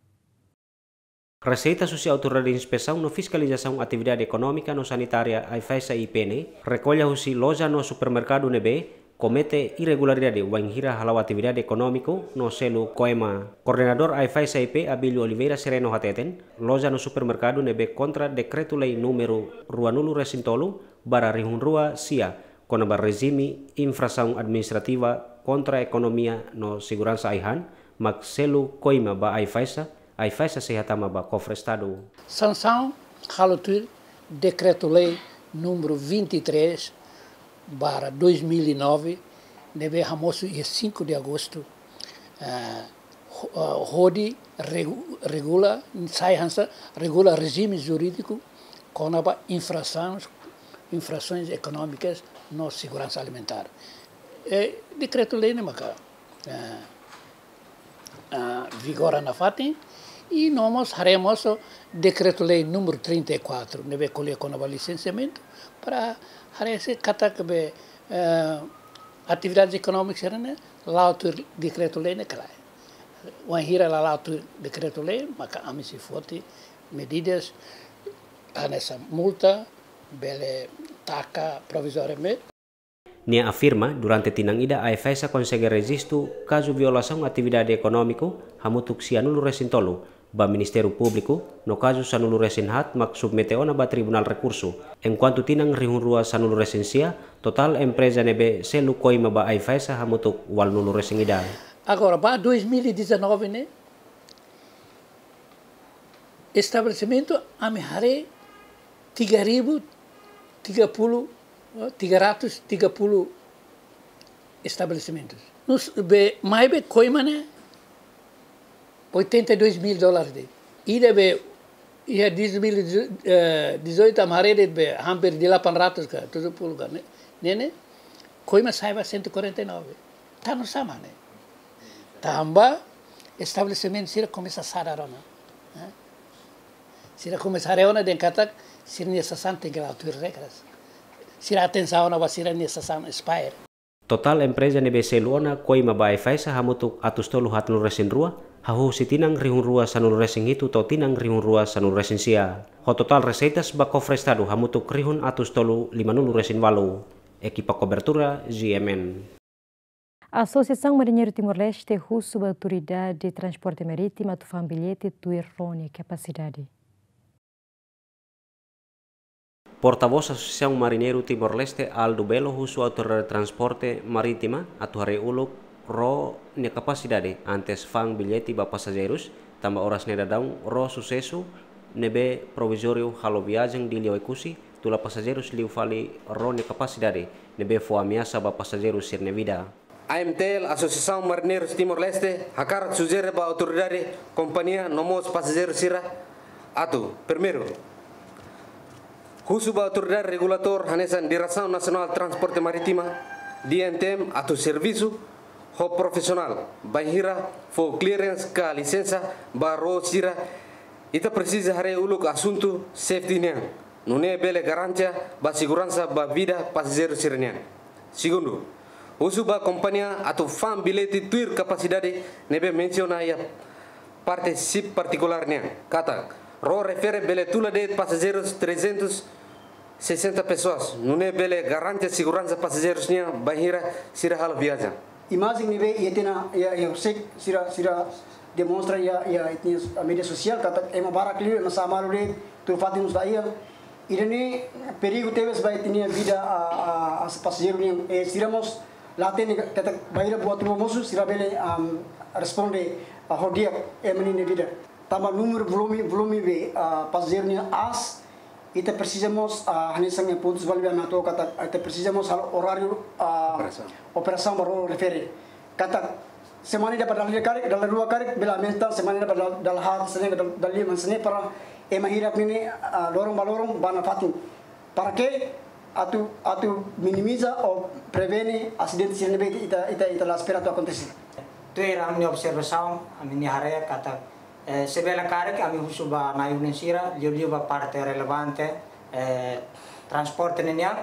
Reseita husi Autoridade Inspesaun no Fiskalizasaun Atividade Ekonómika no Sanitária, AIFAESA I P ne'e, rekolla husi loja no supermerkadu ne'ebé komete irregularidade wainhira hala'o atividade ekonómiku no selu COEMA. Koordenadór AIFAESA I P, Abílio Oliveira Sereno hateten, loja no supermerkadu ne'ebé kontra Dekretu-Lei númeru ruanulu-resin-tolu barra rihun rua sia, kona-ba rejime infrasaun administrativa kontra ekonomia no seguransa ai-han, mak selu COEMA ba AIFAESA, AIFAESA sei hatama ba kofre Estadu. Sansaun halo tuir Dekretu-Lei númeru vinte e três barra dois mil e nove, ne'ebé hamosu iha cinco de agosto, eh, ho-, eh, hodi regu-, regula, sai hanesan regula rejime jurídiku kona-ba infrasaun, infrasoins ekonómikas no seguransa alimentár. E dekretu-lei ne'e maka, eh, ah, vigora nafatin, i no mós haree mós dekretu-lei númeru trinta e quatro, ne'ebé ko'alia kona-ba lisensiamentu, para haree se katak be, eh, atividades ekonómikas sira-ne'e la'o tuir dekretu-lei ne'e ka lae. Wainhira la la'o tuir dekretu-lei, maka ami sei foti medidas hanesan multa, bele taka provizóriu mós. Nia afirma, durante tinan ida AIFAESA konsege rejistu kazu violasaun atividade ekonómiku hamutuk sianulu resin tolu ba Ministériu Públiku, no kazu sanulu resin haat mak submete ona ba Tribunál Rekursu. Enkuantu tinan rihun rua sanulu resin sia, totál empreza ne'ebé selu koima ba AIFAESA hamutuk ualunulu resin ida. Agora, ba dois mil e dezanove ne'e, estabelesimentu ami haree tiga ribu tiga puluh, eh, tiga ratus tiga puluh estabelesimentus. Nusá be, maibé koima ne'e oitenta e dois mil dólares de'it. Ida be, iha dois mil e dezoito, eh, dezoito ami haree de'it be hampir delapan ratus ka tujuh puluh ka ne'e, ne'e, ne'e, koima sai ba cento e quarenta e nove. Tanba sá mak ne'e? Tanba estabelesimentu sira komesa sadar ona. Eh? Sira komesa haree ona dehan katak sira-nia sasán tenke la'o tuir regras. Sira atensaun ona ba sira-nia sasán expire. Totál empreza ne'ebé selu ona koima ba AIFAESA hamutuk atus tolu haatnulu resin rua, hahú husi tinan rihun rua sanulu resin hitu to'o tinan rihun rua sanulu resin sia. Ho totál reseitas ba kofre Estadu hamutuk rihun atus tolu limanulu resin ualu. Ekipa kobertura, G M N. Asosiasaun Mariñeiru Timor-Leste husu ba Autoridade Transporte Marítima atu fa'an billete tuir ró nia kapasidade. Portavós Asosiasaun Mariñeiru Timor-Leste, Aldo Belo, husu Autoridade Transporte Marítima atu haree uluk ró nia kapasidade antes fa'an billete ba pasajeirus, tanba oras ne'e daudaun ró Susesu ne'ebé provizóriu halo viajen Dili Oekusi tula pasajeirus liu fali ró nia kapasidade, ne'ebé fó ameasa ba pasajeirus sira-nia vida. A M T L, Asosiasaun Mariñeirus Timor-Leste, hakarak sujere ba autoridade, kompañia no mós pasajeiru sira atu, primeiru, husu ba autoridade regulatór hanesan Diresaun Nasionál Transporte Marítima, D N T M, atu servisu ho profisionál, bainhira fó clearance ka lisensa ba ró sira, ita presiza haree uluk asuntu safety nian, nune'e bele garantia ba seguransa ba vida pasajeiru sira-nian. Segundu, husu ba kompañia atu fa'an billete tuir kapasidade ne'ebé mensiona iha parte sip partikulár nian, katak ró refere bele tula de'it pasajeirus trezentos e sessenta pessoas, nune'e bele garantia seguransa pasajeirus nian bainhira sira halo viajen. Imajen ne'ebé iha tiha ona, iha, iha husik sira, sira demonstra iha, iha ita-nia média sosiál, katak ema barak liu, ema sa'e malu de'it, tuur fatin mós la iha. Ida-ne'e perigu tebes ba ita-nia vida, a, a, a pasajeiru nian, e sira mós la hatene katak bainhira buat ruma mosu, sira bele, am, responde, a, ho di'ak ema ninia vida. Tanba númeru volume, volume be, a, pasajeiru nian aas, ita presiza mós, a, hanesan pontus balu be ami hato'o katak, ita presiza mós halo oráriu, a, operasaun, operasaun ba ró refere. Katak semana ida ba dala ida karik, dala rua karik, bele aumenta, semana ida ba dala, dala haat, semana ida ba dala, dala lima, semana para ema hirak ne'e, a, loron ba loron bá nafatin. Para ke? Atu, atu minimiza ou prevene asidente sira ne'ebé ita, ita, ita la espera atu akontese. Tuir ami-nia observasaun, ami-nia haree katak, eh, se bele karik ami husu ba na'i-ulun sira, liuliu ba parte relevante, eh, transporte ninian,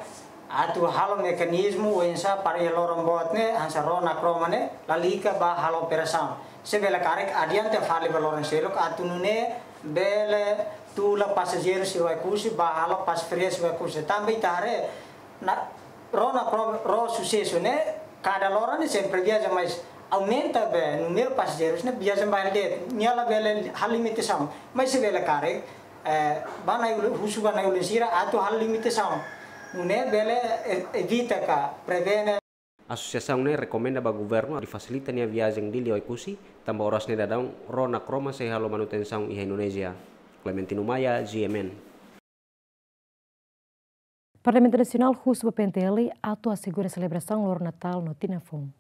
atu halo mekanizmu oinsá para iha loron boot ne'e, hanesan ró nakroma ne'e, lalika bá halo operasaun. Se bele karik adianta fali ba loron seluk, atu nune'e bele tula pasajeiru sira Oekusi, bá halo pas ferias Oekusi. Tanba ita haree, na, ró nakro-, ró Susesu ne'e, kada loron ne'e sempre viajen, mas aumenta be númeru pasajeirus ne'e viajen ba hela de'it. Nia labele halo limitasaun. Mas se bele karik, eh, ba na'i-ulun, husu ba na'i-ulun sira atu halo limitasaun. Nune'e bele e-, evita ka prevene. Asosiasaun ne'e rekomenda ba governu atu fasilita nia viajen Dili Oekusi, tanba oras ne'e daudaun ró nakroma sei halo manutensaun iha Indonézia. Clementino Maia, G M N. Parlamentu Nasionál husu ba P N T L atu asegura selebrasaun loron Natál no Tinan Foun.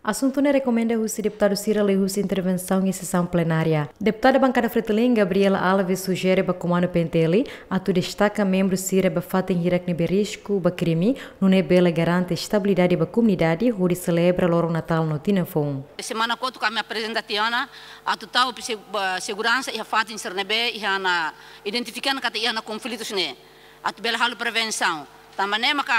Asuntu ne'e rekomenda husi deputadu sira liuhusi intervensaun iha sesaun plenária. Deputada bankada Fretilin, Gabriela Alves, sujere ba komandu P N T L atu destaka membru sira ba fatin hirak ne'ebé risku ba krime, nune'e bele garante estabilidade ba komunidade hodi selebra loron Natál no Tinan Foun. Semana kotuk ami aprezenta tiha ona atu tau pe se-, ba seguransa iha fatin sira ne'ebé iha ona, identifika ona katak iha ona konflitus ne'e, atu bele halo prevensaun. Tanba ne'e maka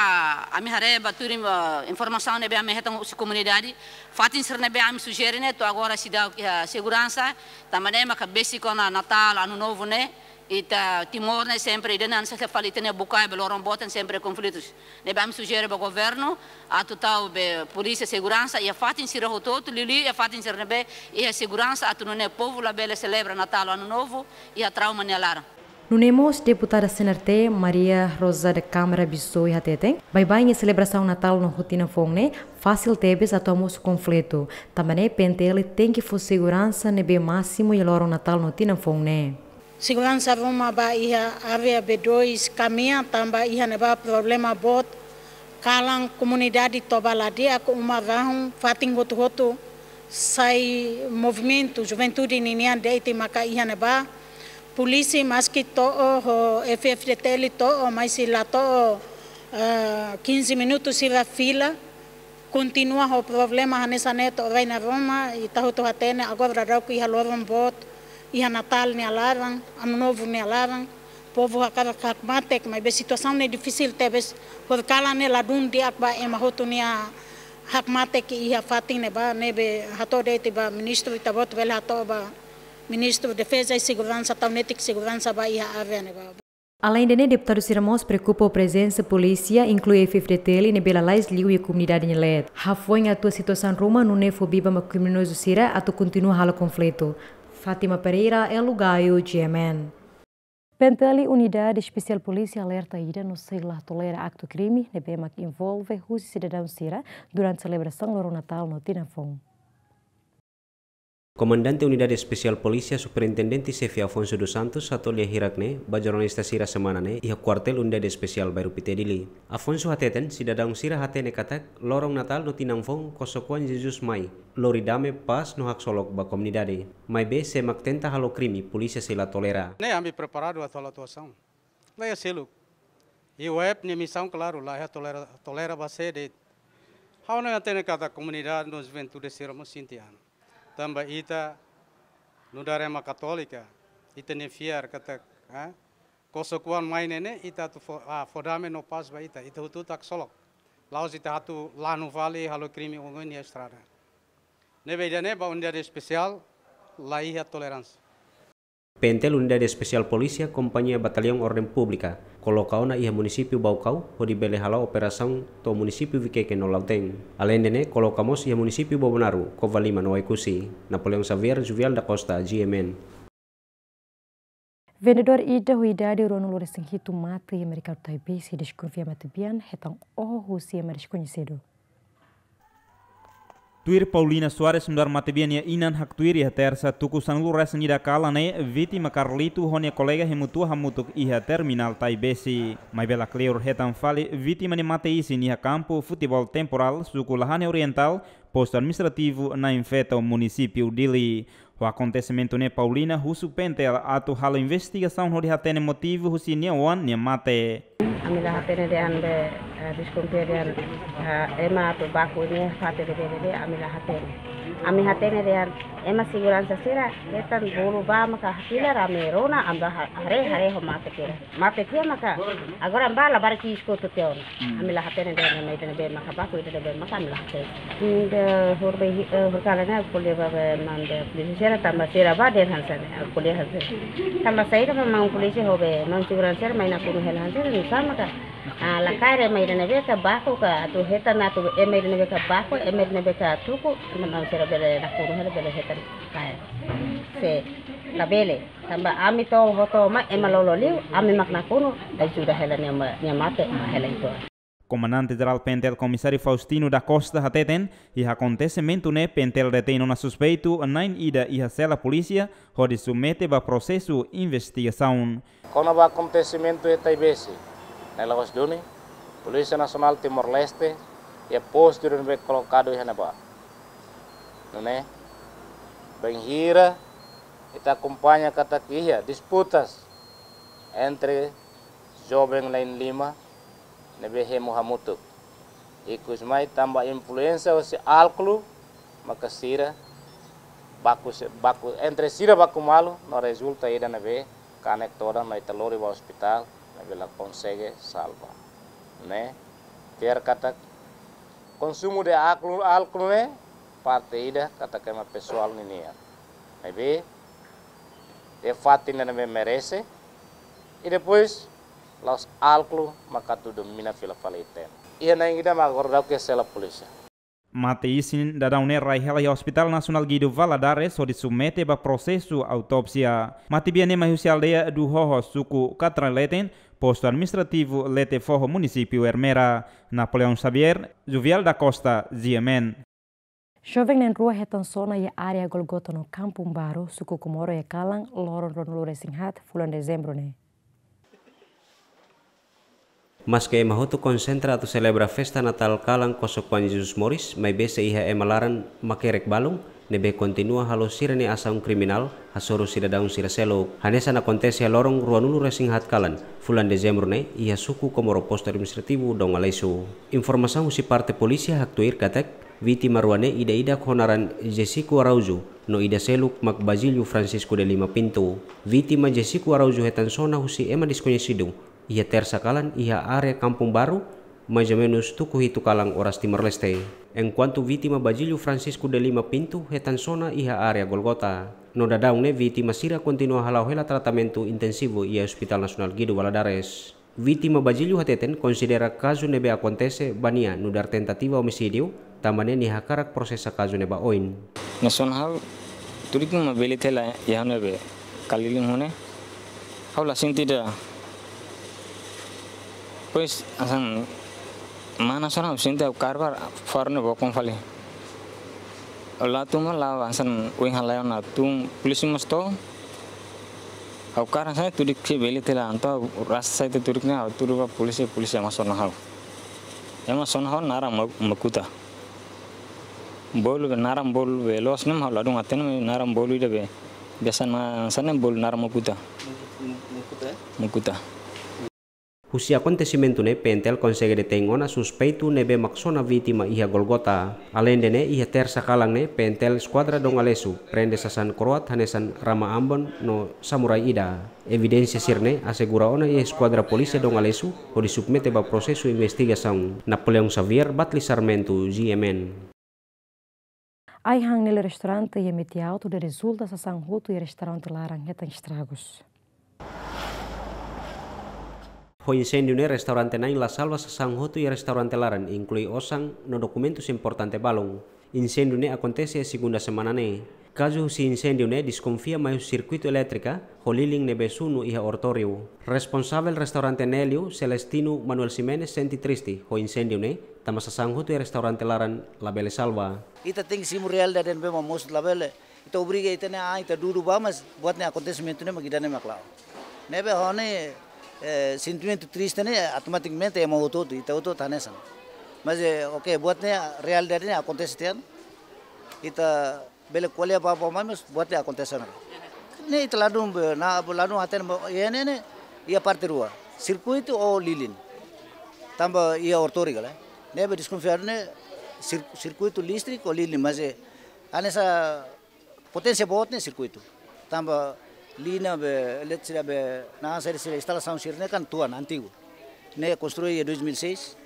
ami haree ba tuir, eh, informasaun ne'ebé ami hetan husi komunidade, fatin sira ne'ebé ami sujere ne'e to'o agora seidauk iha seguransa. Tanba ne'e maka besik ona Natál, Ano Novo ne'e, ita Timor ne'e sempre ida-ne'e hanesan fali ita-nia bukae ba loron boot ne'e sempre konflitus. Ne'ebé ami sujere ba governu atu tau be polísia seguransa iha fatin sira hotu-hotu, liuliu iha fatin sira ne'ebé iha seguransa atu nune'e povu labele selebra Natál, Ano Novo iha trauma nia laran. Nune'e mós deputada C N R T, Maria Rosa da Câmara Bissoy hateten, baibain iha selebrasaun Natál no Tinan Foun ne'e fasil tebes atu hamosu konflitu. Tanba ne'e P N T L tenke fó seguransa ne'ebé másimu iha loron Natál no Tinan Foun ne'e. Seguransa ruma ba iha área B dois kamian tanba iha ne'ebá problema boot, kalan komunidade toba la di'ak, uma rahun, fatin hotu-hotu sai movimentu, juventude ninian de'it maka iha ne'ebá. Polísia maski to'o ho F F D T L to'o, maibé la to'o, eh, quinze minutos sira fila. Kontinua ho problema hanesan ne'e to'o rai-na'in ruma, ita hotu hatene agora daudaun iha loron boot, iha Natál nia laran, Ano Novo nia laran, povu hakarak hakmatek, maibé situasaun ne'e difisil tebes, horikalan ne'e ladún di'ak ba ema hotu nia hakmatek iha fatin ne'ebá, ne'ebé hato'o de'it ba ministru, ita-boot bele hato'o ba Ministru Defeza i Seguransa tau netik seguransa ba iha área ne'ebá. Aleinde ne'e, deputadu sira mós preokupa ho prezensa polísia, inklui F F D T L, ne'ebé lalais liu iha komunidade nia leet. Hafoin atua situasaun ruma, nune'e fó biban ba kriminozu sira atu kontinua halo konflitu. Fátima Pereira, Elo Gaio, G M N. P N T L, Unidade Espesiál Polísia, alerta ida no sei la tolera aktu krime ne'ebé mak envolve husi sidadaun sira durante selebrasaun loron Natál no Tinan Foun. Komandante Unidade Espesiál Polísia, Superintendente Xefe Afonso dos Santos, hato'o lia hirak ne'e ba jornalista sira semana ne'e iha Kuartél Unidade Espesiál Bairru Pité, Dili. Afonso hateten, sidadaun sira hatene katak loron Natál no Tinan Foun kosok-oan Jesus mai, lori dame, pás no haksolok ba komunidade. Maibé sé mak tenta halo krime, polísia sei la tolera. Ne'e ami preparadu atu halo atuasaun. La iha seluk. I web nia misaun klaru, la iha tolera, tolera ba sé de'it. Ha'u hanoin hatene katak komunidade no juventude sira mós sente an. Tanba ita nu'udar ema katólika, ita-nia fiar katak, eh, kosok-oan mai ne'e ne'e, ita atu fó, ah, fó dame no pás ba ita, ita hotu-hotu haksolok. La'ós ita atu lanu fali halo krime oioin iha estrada. Ne'ebé ida-ne'e ba Unidade Espesiál, la iha toleránsia. P N T L, Unidade Espesiál Polísia, Kompañia Batallaun Orden Públika, koloka ona iha munisípiu Baucau, hodi bele hala'o operasaun to'o munisípiu Viqueque no Lautém. Aleinde ne'e, koloka mós iha munisípiu Bobonaro, Covalima no Oekusi. Napoleão Xavier, Juvial da Costa, G M N. Vendedór ida ho idade ruanulu-resin-hitu mate iha merkadu Taibesi, deskonfia matebian hetan oho husi ema deskoñesidu. Tuir Paulina Soares, nu'udar matebian nia inan, haktuir iha Tersa tuku sanulu-resin-ida kalan ne'e, vítima Carlito ho nia kolega hemu tua hamutuk iha terminál Taibesi. Maibé la kleur hetan fali vítima nia mate-isin iha kampu futeból Temporal, suku Lahane Orientál, postu administrativu Nain Feto, munisípiu Dili. Ho akontesimentu ne'e, Paulina husu P N T L atu halo investigasaun hodi hatene motivu husi nia oan nia mate. Ami la hatene dehan be, eh, deskonfia dehan, eh, ema atu baku ne'e fatin ne'ebé de'it, ami la hatene. Ami hatene dehan ema seguransa sira hetan bolu ba maka fila rame rona, ami ba ha-, haree, haree ho mate kira. Mate tiha maka, agora ami ba labarik iha eskutu tiha ona. Hmm. Ami la hatene dehan ema ida ne'ebé maka baku, ida ne'ebé maka, ami la hatene. Ida hori be, eh, horikalan ne'e ko'alia ba be maun be polísia sira tanba sira ba dehan hanesan ne'e, ko'alia hanesan ne'e. Tanba saida be maun polísia ho be maun seguransa sira mai nakonu hela hanesan ne'e, nusá maka, ah, la kaer ema ida ne'ebé ka baku ka atu hetan atu ema ida ne'ebé ka baku, ema ida ne'ebé ka tuku, ema maun sira bele nakonu hela bele hetan kaer. Se labele. Tanba ami to'o hotu mai ema lolo liu, ami mak nakonu, ajuda hela nia ma-, nia mate, ba hela itu. Komandante Jerál P N T L Komisáriu Faustino da Costa hateten, iha akontesimentu ne'e P N T L detein ona suspeitu na'in ida iha sela polísia, hodi submete ba prosesu investigasaun. Kona-ba akontesimentu iha Taibesi, Ne'e la'ós duni, Polísia Nasionál Timor-Leste iha postu ne'ebé kolokadu iha ne'ebá. Nune'e, bainhira ita akompaña katak iha disputas entre joven lain lima ne'ebé hemu hamutuk. Ikusmai tanba influénsia husi álkolu, maka sira baku se-, baku, entre sira baku malu, no rezulta ida ne'ebé kanek todan no ita lori ba ospitál, ne'ebé la konsege salva. Ne'e, fiar katak konsumu de álkolu, álkolu ne'e parte ida katak ema pesoál ninian. Ne'ebé, iha fatin ne'ebé merese, i depois, la'ós álkolu maka atu domina fila fali ita-nia. Iha na'in ida mak agora daudaun ke sela polísia. Mate-isin daudaun ne'e rai hela iha Hospital Nasionál Guido Valadares hodi submete ba prosesu autópsia. Matebian ne'e mai husi aldeia Duhoho, suku Katraleten, postu administrativu Letefoho, munisípiu Ermera. Napoleão Xavier, Juvial da Costa, G M N. Joven na'in rua hetan sona iha área Golgota no Kampung Baru, suku Comoro iha kalan, loron ruanulu-resin-haat fulan Dezembru ne'e. Maske ema hotu konsentra atu selebra festa Natál kalan kosok-oan Jesus moris, maibé sei iha ema laran makerek balun ne'ebé kontinua halo sira-nia asaun kriminál hasoru sidadaun sira seluk. Hanesan akontese iha loron ruanulu-resin-haat kalan fulan Dezembru ne'e iha suku Comoro, postu administrativu Dom Aleixo. Informasaun husi parte polísia haktuir katak vítima rua ne'e ida-idak ho naran Jessico Araújo, no ida seluk mak Basílio Francisco de Lima Pinto. Vítima Jessico Araújo hetan sona husi ema deskoñesidu iha Tersa kalan iha área Kampung Baru, mais ou menus tuku hitu kalan oras Timor-Leste. Enkuantu vítima Basílio Francisco de Lima Pinto hetan sona iha área Golgota. No daudaun ne'e vítima sira kontinua hala'o hela tratamentu intensivu iha Hospital Nasionál Guido Valadares. Vítima Basílio hateten konsidera kazu ne'ebé akontese ba nia nu'udar tentativa omisídiu, tanba ne'e nia hakarak prosesa kazu ne'e ba oin. Nia sona ha'u, tudik mak bele tela iha ne'ebé kaliling ho ne'e. Ha'u la sente ida. Depois, hanesan mana sona ha'u sente ha'u kaer ba faru ne'e bokon fali. Ha'u la tun mak la hanesan oin halai ona tun polísia mós to'o. Ha'u kaer hanesan ne'e tudik ke bele tela entaun ha'u rasa sai tudik ne'e ha'u tuur ba polísia, polísia mak sona ha'u. Ema sona ha'u naran Mo-, Mokuta. Bolu be naran bolu be loos ne'e mak ha'u ladún hatene naran bolu ida be biasa hanesan ne'e bolu naran Mokuta. Mokuta, eh? Mokuta. Husi akontesimentu ne'e P N T L konsege detein ona suspeitu ne'ebé mak sona vítima iha Golgota. Aleinde ne'e iha Tersa kalan ne'e P N T L Eskuadra Dom Aleixo prende sasán kroat hanesan rama ambon no samurai ida. Evidénsia sira-ne'e asegura ona iha Eskuadra Polísia Dom Aleixo hodi submete ba prosesu investigasaun. Napoleão Xavier, Batli Sarmento, G M N. Ai-han nele restaurante iha Metiaut hodi rezulta sasán hotu iha restaurante laran hetan estragus. Ho inséndiu ne'e restaurante na'in la salva sasán hotu iha restaurante laran, inklui osan no dokumentus importante balun. Inséndiu ne'e akontese iha segunda semana ne'e. Kazu husi inséndiu ne'e deskonfia mai husi sirkuitu elétrika ho lilin ne'ebé sunu iha oratóriu. Responsavel restaurante Nélio, Celestino Manuel Ximenes, sente triste ho inséndiu ne'e, tanba sasán hotu iha restaurante laran labele salva. Ita tenke simu realidade ne'ebé mak mosu, labele ita obriga ita-nia an ita dudu ba, mas buat ne'e akontesimentu ne'e mak ida-ne'e mak la'o. Ne'ebé ho ne'e, eh, sentimentu triste ne'e automatikamente ema hotu-hotu, ita hotu-hotu hanesan. Mas, eh, oke, buat ne'e realidade ne'e akontese tiha ona. Ita bele ko'alia ba, ba, mas buat ne'e akontese ona. Ne'e ita ladún be, na, ladún hatene ba, iha ne'e, ne'e, iha parte rua. Sirkuitu ho lilin. Tanba iha oratóriu ka lae. Ne'ebé deskonfia ne'e sir-, sirkuitu listrik ho lilin, mas, eh, hanesan poténsia boot ne'e sirkuitu. Tanba liña be, eletrisidade be, na'an sira, sira instalasaun sira-ne'e kan tuan, antigu. Ne'e konstrui iha dois mil e seis.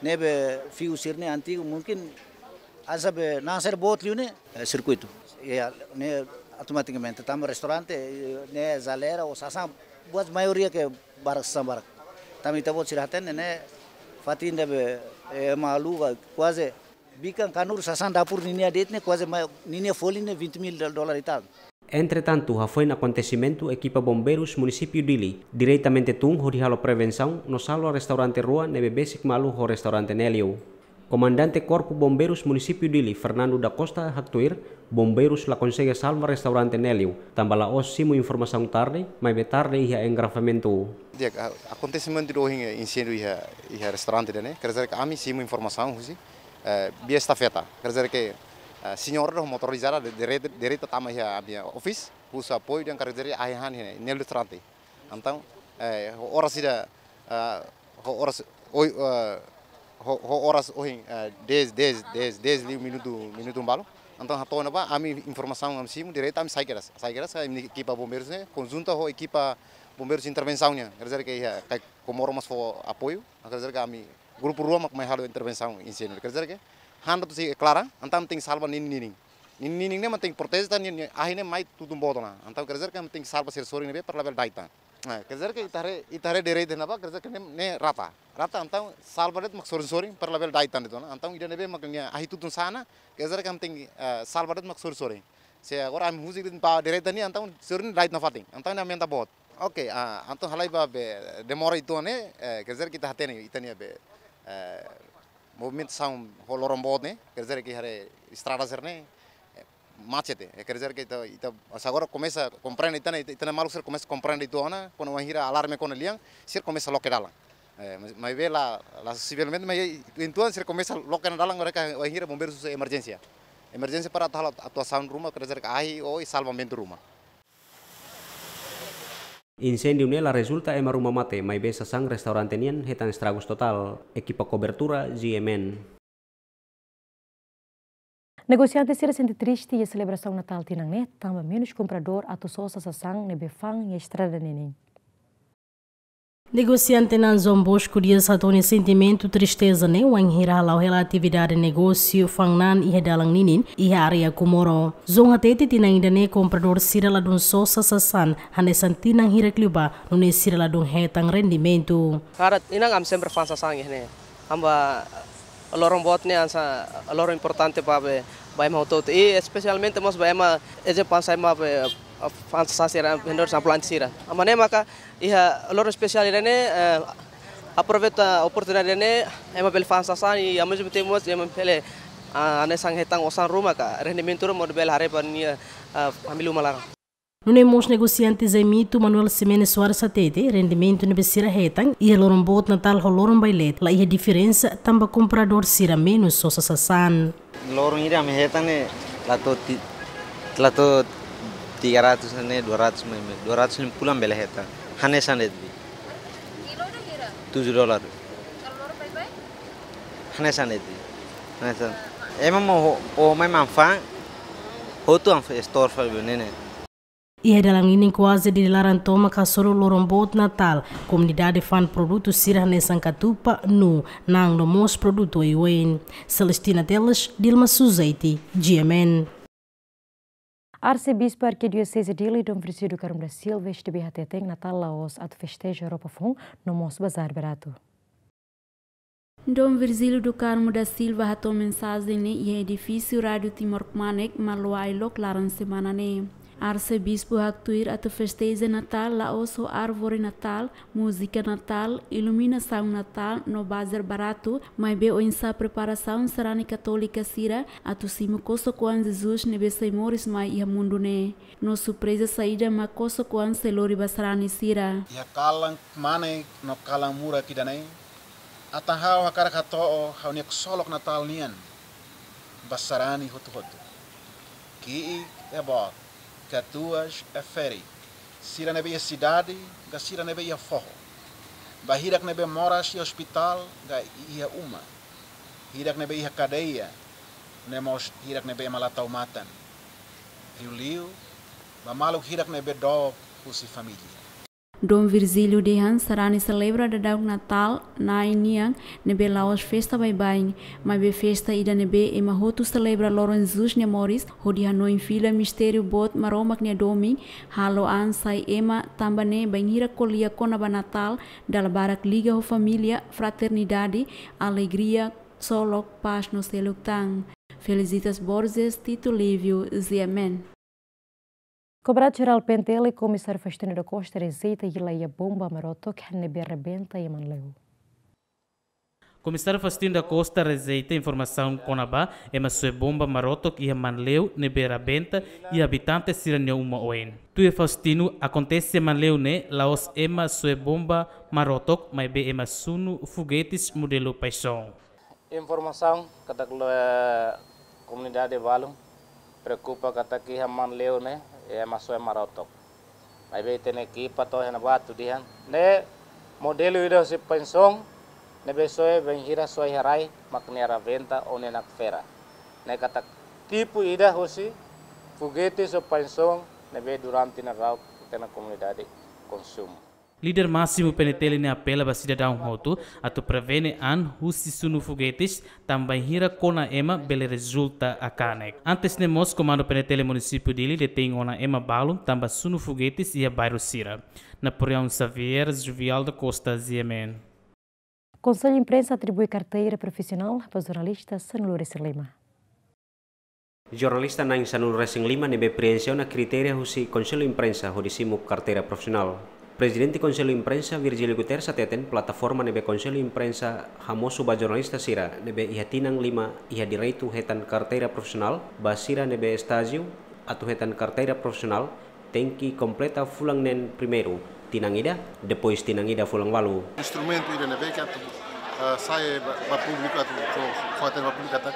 Ne'ebé fiu sira-ne'e antigu, mungkin hanesan be, na'an sira boot liu ne'e, eh, sirkuitu. Iha, ne'e automatikamente tanba restaurante, eh, ne'e jaleira ou sasán, buat maioria ke barak sasán barak. Tanba ita-boot sira hatene ne'e, fatin ida be, eh, malu ka kuaze bikan kanuru sasán dapur ninia de'it ne'e kuaze mai, ninia folin ne'e vinte mil dol-, dólar e tal. Entretantu, hafoin akontesimentu ekipa bombeirus munisípiu Dili diretamente tun hodi halo prevensaun no salva restaurante rua ne'ebé besik malu ho restaurante Nélio. Komandante Korpu Bombeirus Munisípiu Dili, Fernando da Costa, haktuir, bombeirus la konsege salva restaurante ne'e liu, tanba la'ós simu informasaun tarde, maibé tarde iha engarrafamentu. Di'ak, a-, akontesimentu ida ohin, eh, inséndiu iha, iha restaurante ida-ne'e, quer dizer que ami simu informasaun husi, eh, via estafeta, quer dizer que, eh, señora ho motorizada de, direta, direta tama iha ami-nia office, husu apoiu dehan quer dizer ahi han iha ne'e, ne'e restaurante. Entaun, eh, ho oras ida, eh, ho oras oi, eh, ho, ho oras ohin, eh, dez, dez, dez, dez liu minutu, minutu balu. Entaun hato'o ne'ebá, ami informasaun ami simu direta ami sai kedas. Sai kedas, ami ekipa bombeirus ne'e, konjunta ho ekipa bombeirus intervensaun nian. Quer dizer que iha, karik Comoro mós fó apoiu, quer dizer que ami grupu rua mak mai halo intervensaun inséndiu. Quer dizer que, handa tu si klara, entaun tenke salva ninin-ninin. Ninin-ninin ne'e mak tenke proteje tan ninia, ninia ahi ne'e mai tutun boot ona. Entaun quer dizer que tenke salva sira sorin ne'ebé para labele dai tan. Eh, quer dizer que ita haree, ita haree direta ne'ebá, quer dizer que ne'e, ne'e rata. Rata, entaun salva de'it mak sorin-sorin para labele dai tan de'it ona. Entaun ida ne'ebé mak nia ahi tutun sa'e ona, quer dizer que tenke, eh, salva de'it mak sorin-sorin. Se agora ami husik de'it ba direta nian, entaun sorin dai tan nafatin. Entaun ne'e aumenta boot. Ok, ah, entaun halai ba be demora uitoan ne'e, eh, quer dizer que ita hatene, ita-nia be, eh, movimentasaun ho loron boot ne'e, quer dizer que haree estrada sira-ne'e, eh, macet, eh, quer dizer que ita, ita, se agora komesa komprende, ita-nia, ita-nia maluk sira komesa komprende uitoan ona, kuandu wainhira alarme kona lian, sira komesa loke dalan. Eh, mas, maibé la, la sivelmente, mas uitoan sira komesa loke ona dalan, agora ka wainhira bombeirus husu emerjénsia. Emerjénsia para atu halo atuasaun ruma, quer dizer que ahi, oi, salvamentu ruma. Inséndiu ne'e la rezulta ema ruma mate, maibé sasán restaurante nian hetan estragus totál, ekipa kobertura G M N. Negosiante sira sente triste iha selebrasaun Natál tinan ne'e, tanba menus kompradór atu sosa sasán ne'ebé fa'an iha estrada ninin. Negosiante Nan João Bosco Dias hato'o nia sentimentu tristeza ne'e wainhira hala'o hela atividade negósiu fa'an-na'an iha dalan ninin, iha área Comoro. João hatete tinan ida-ne'e kompradór sira ladún sosa sasán, hanesan tinan hirak liubá, nune'e sira ladún hetan rendimentu. Kada tinan ami sempre fa'an sasán iha ne'e. Tanba loron boot ne'e hanesan loron importante ba be, ba ema hotu-hotu. I espesialmente mós ba ema ezemplu hanesan ema be, fa'an sasán sira, vendedór ambulante sira. Tanba ne'e maka iha loron espesiál ida-ne'e, eh, aproveita oportunidade ne'e, ema bele fa'an sasán i ao mesmo tempo mós ema bele, ah, hanesan hetan osan ruma ka, rendimentu ruma bele haree ba nia, ah, família uma laran. Nune'e mós negosiante Zaimito Manuel Ximenes Soares hatete, rendimentu ne'ebé sira hetan iha loron boot Natál ho loron baileet la iha diferensa tanba kompradór sira menus sosa sasán. Loron ida ami hetan ne'e la to'o ti-, la to'o tiga ratus ne'e, dua ratus mai, mai, dua ratus ne'e pulang bele hetan. Hanesan de'it. Tujuh dolar. Hanesan de'it. Hanesan. Ema mós ho, ho mai manfaan, hotu an store fali be ne'e ne'e. Iha dalan ninin kuaze Dili laran tomak hasoru loron boot Natál, komunidade fa'an produtu sira hanesan katupa, nuu, na'an no mós produtu oioin. Celestina Teles, Dilma Suzeiti, G M N. Arsebispu Arkidioseze Dili, Dom Virgílio do Carmo da Silva, S D B, hateten Natál la'ós atu festeja roupa foun, no mós bazár baratu. Dom Virgílio do Carmo da Silva hato'o mensajen ne'e iha edifísiu Rádiu Timor Kmanek, Maluailok, laran semana ne'e. Arsebispu haktuir atu festeja Natál la'ós ho árvore Natál, múzika Natál, iluminasaun Natál no bazár baratu, maibé oinsá preparasaun sarani katólika sira atu simu kosok-oan Jesus ne'ebé sai moris mai iha mundu ne'e. No surpreza saida mak kosok-oan sei lori ba sarani sira. Iha kalan kmanek no kalan murak ida-ne'e, atan ha'u hakarak hato'o ha'u-nia ksolok Natál nian ba sarani hotu-hotu. Ki'ik ka boot, katuas ka ferik, sira ne'ebé iha sidade ka sira ne'ebé iha foho. Ba hirak ne'ebé moras iha ospitál ka iha uma. Hirak ne'ebé iha kadeia, no mós hirak ne'ebé ema la tau matan. Liuliu ba maluk hirak ne'ebé dook husi família. Dom Virgílio dehan sarani selebra daudaun Natál Na'i nian ne'ebé la'ós festa baibain, maibé festa ida ne'ebé ema hotu selebra loron Jesus nia moris, hodi hanoin fila mistériu boot Maromak nia domin, halo an sai ema, tanba ne'e bainhira ko'alia kona-ba Natál, dala barak liga ho família, fraternidade, alegria, ksolok, pás no seluk tan. Felicitas Borges, Tito Livio, G M N. Komandu Jerál P N T L, Komisáriu Faustino da Costa, rejeita hela iha bomba Marotok ne'ebé rebenta iha Manleu. Komisáriu Faustino da Costa rejeita informasaun kona-ba ema soe bomba marotok iha Manleu ne'ebé rabenta iha abitante sira-nia uma oin. Tuir Faustino, akontese iha Manleu ne'e la'ós ema soe bomba marotok, maibé ema sunu fogetes modelu Paixão. Informasaun katak lo, eh, komunidade balu preokupa katak iha Manleu ne'e ema soe marotok. Maibé ita-nia ekipa to'o iha ne'ebá atu dehan ne'e modelu ida husi Paixão ne'ebé soe bainhira soe iha rai mak nia rabenta ou nia nakfera. Ne'e katak tipu ida husi fogetes ou Paixão ne'ebé durante ne'e rau ita-nia komunidade konsumu. Líder másimu P N T L ne'e apela ba sidadaun hotu atu prevene an husi sunu fogetes, tanba bainhira kona ema bele rezulta kanek. Antes ne'e mós, Komandu P N T L Munisípiu Dili detein ona ema balu tanba sunu fogetes iha bairru sira. Napoleão Xavier, Juvial da Costa, G M N. Konsellu Imprensa atribui karteira profisionál ba jornalista sanulu-resin-lima. Jornalista na'in sanulu-resin-lima ne'ebé preenxe ona kritéria husi Konsellu Imprensa hodi simu karteira profisionál. Prezidente Konsellu Imprensa, Virgílio Guterres, hateten plataforma ne'ebé Konsellu Imprensa hamosu ba jornalista sira ne'ebé iha tinan lima iha direitu hetan karteira profisionál, ba sira ne'ebé estájiu atu hetan karteira profisionál, tenke kompleta fulan neen primeiru tinan ida, depois tinan ida fulan ualu. Instrumentu ida ne'ebé ke atu, eh, sai ba, ba públiku atu fó, fó hatene ba públiku katak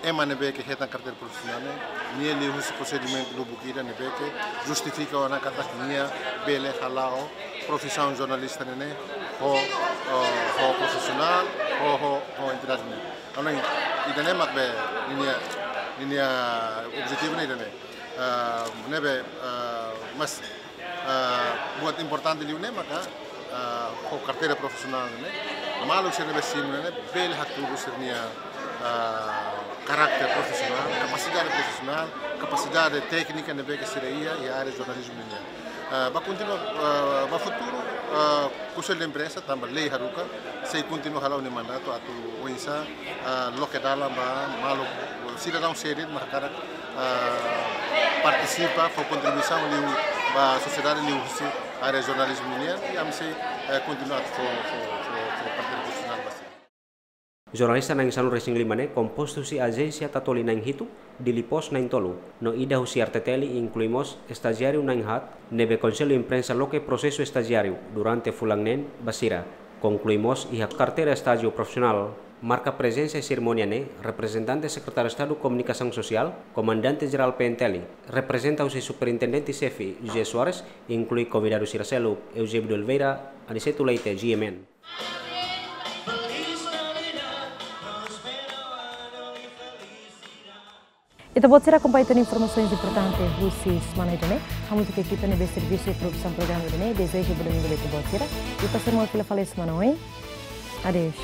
ema ne'ebé ke hetan karteira profisionál ne'e, nia liuhusi prosedimentu lubuk ida ne'ebé ke justifika ona katak nia bele hala'o profisaun jornalista ne'e, ne'e ho, eh, ho profisionál, ho, ho, ho integridade ne'e. Entaun ida-ne'e mak be ninia, ninia objetivu ne'e ida-ne'e. Ah, ne'ebé, ah, mas, ah, buat importante liu ne'e maka, ah, ho karteira profisionál ne'e, maluk sira ne'ebé simu ne'e bele hatudu sira-nia, ah, karakter profisionál, kapasidade profisionál, kapasidade téknika ne'ebé ke sira iha iha área jornalizmu nian. Ah, ba kontinua, ah, ba futuru, ah, Konsellu Imprensa, tanba lei haruka, sei kontinua hala'o nia mandatu atu oinsá, ah, loke dalan ba maluk sidadaun sira ne'ebé hakarak, ah, partisipa, fó kontribuisaun liu ba sosiedade liuhusi área jornalizmu nian, i ami sei, eh, kontinua atu fó, fó, fó, fó parte profisionál ba sira. Jornalista na'in sanulu-resin-lima ne'e kompostu husi ajénsia Tatoli na'in hitu, Dili Post na'in tolu, no ida husi R T T L, inklui mós estajiáriu na'in haat, ne'ebé Konsellu Imprensa loke prosesu estajiáriu durante fulan neen ba sira, konklui mós iha karteira estájiu profisionál. Marka prezensa iha serimónia ne'e reprezentante Sekretáriu Estadu Komunikasaun Sosiál, Komandante Jerál P N T L, reprezenta husi Superintendente Xefe José Soares, inklui konvidadu sira seluk, Eusébio de Oliveira, Aniceto Leite, G M N. Ita-boot sira akompaña tan informasaun importante husi semana ida-ne'e. Hamutuk ho ekipa ne'ebé servisu produsaun programa ida-ne'e, dezeja ba domingu ba ita-boot sira. I pasa malu fila fali semana oin. Adeus.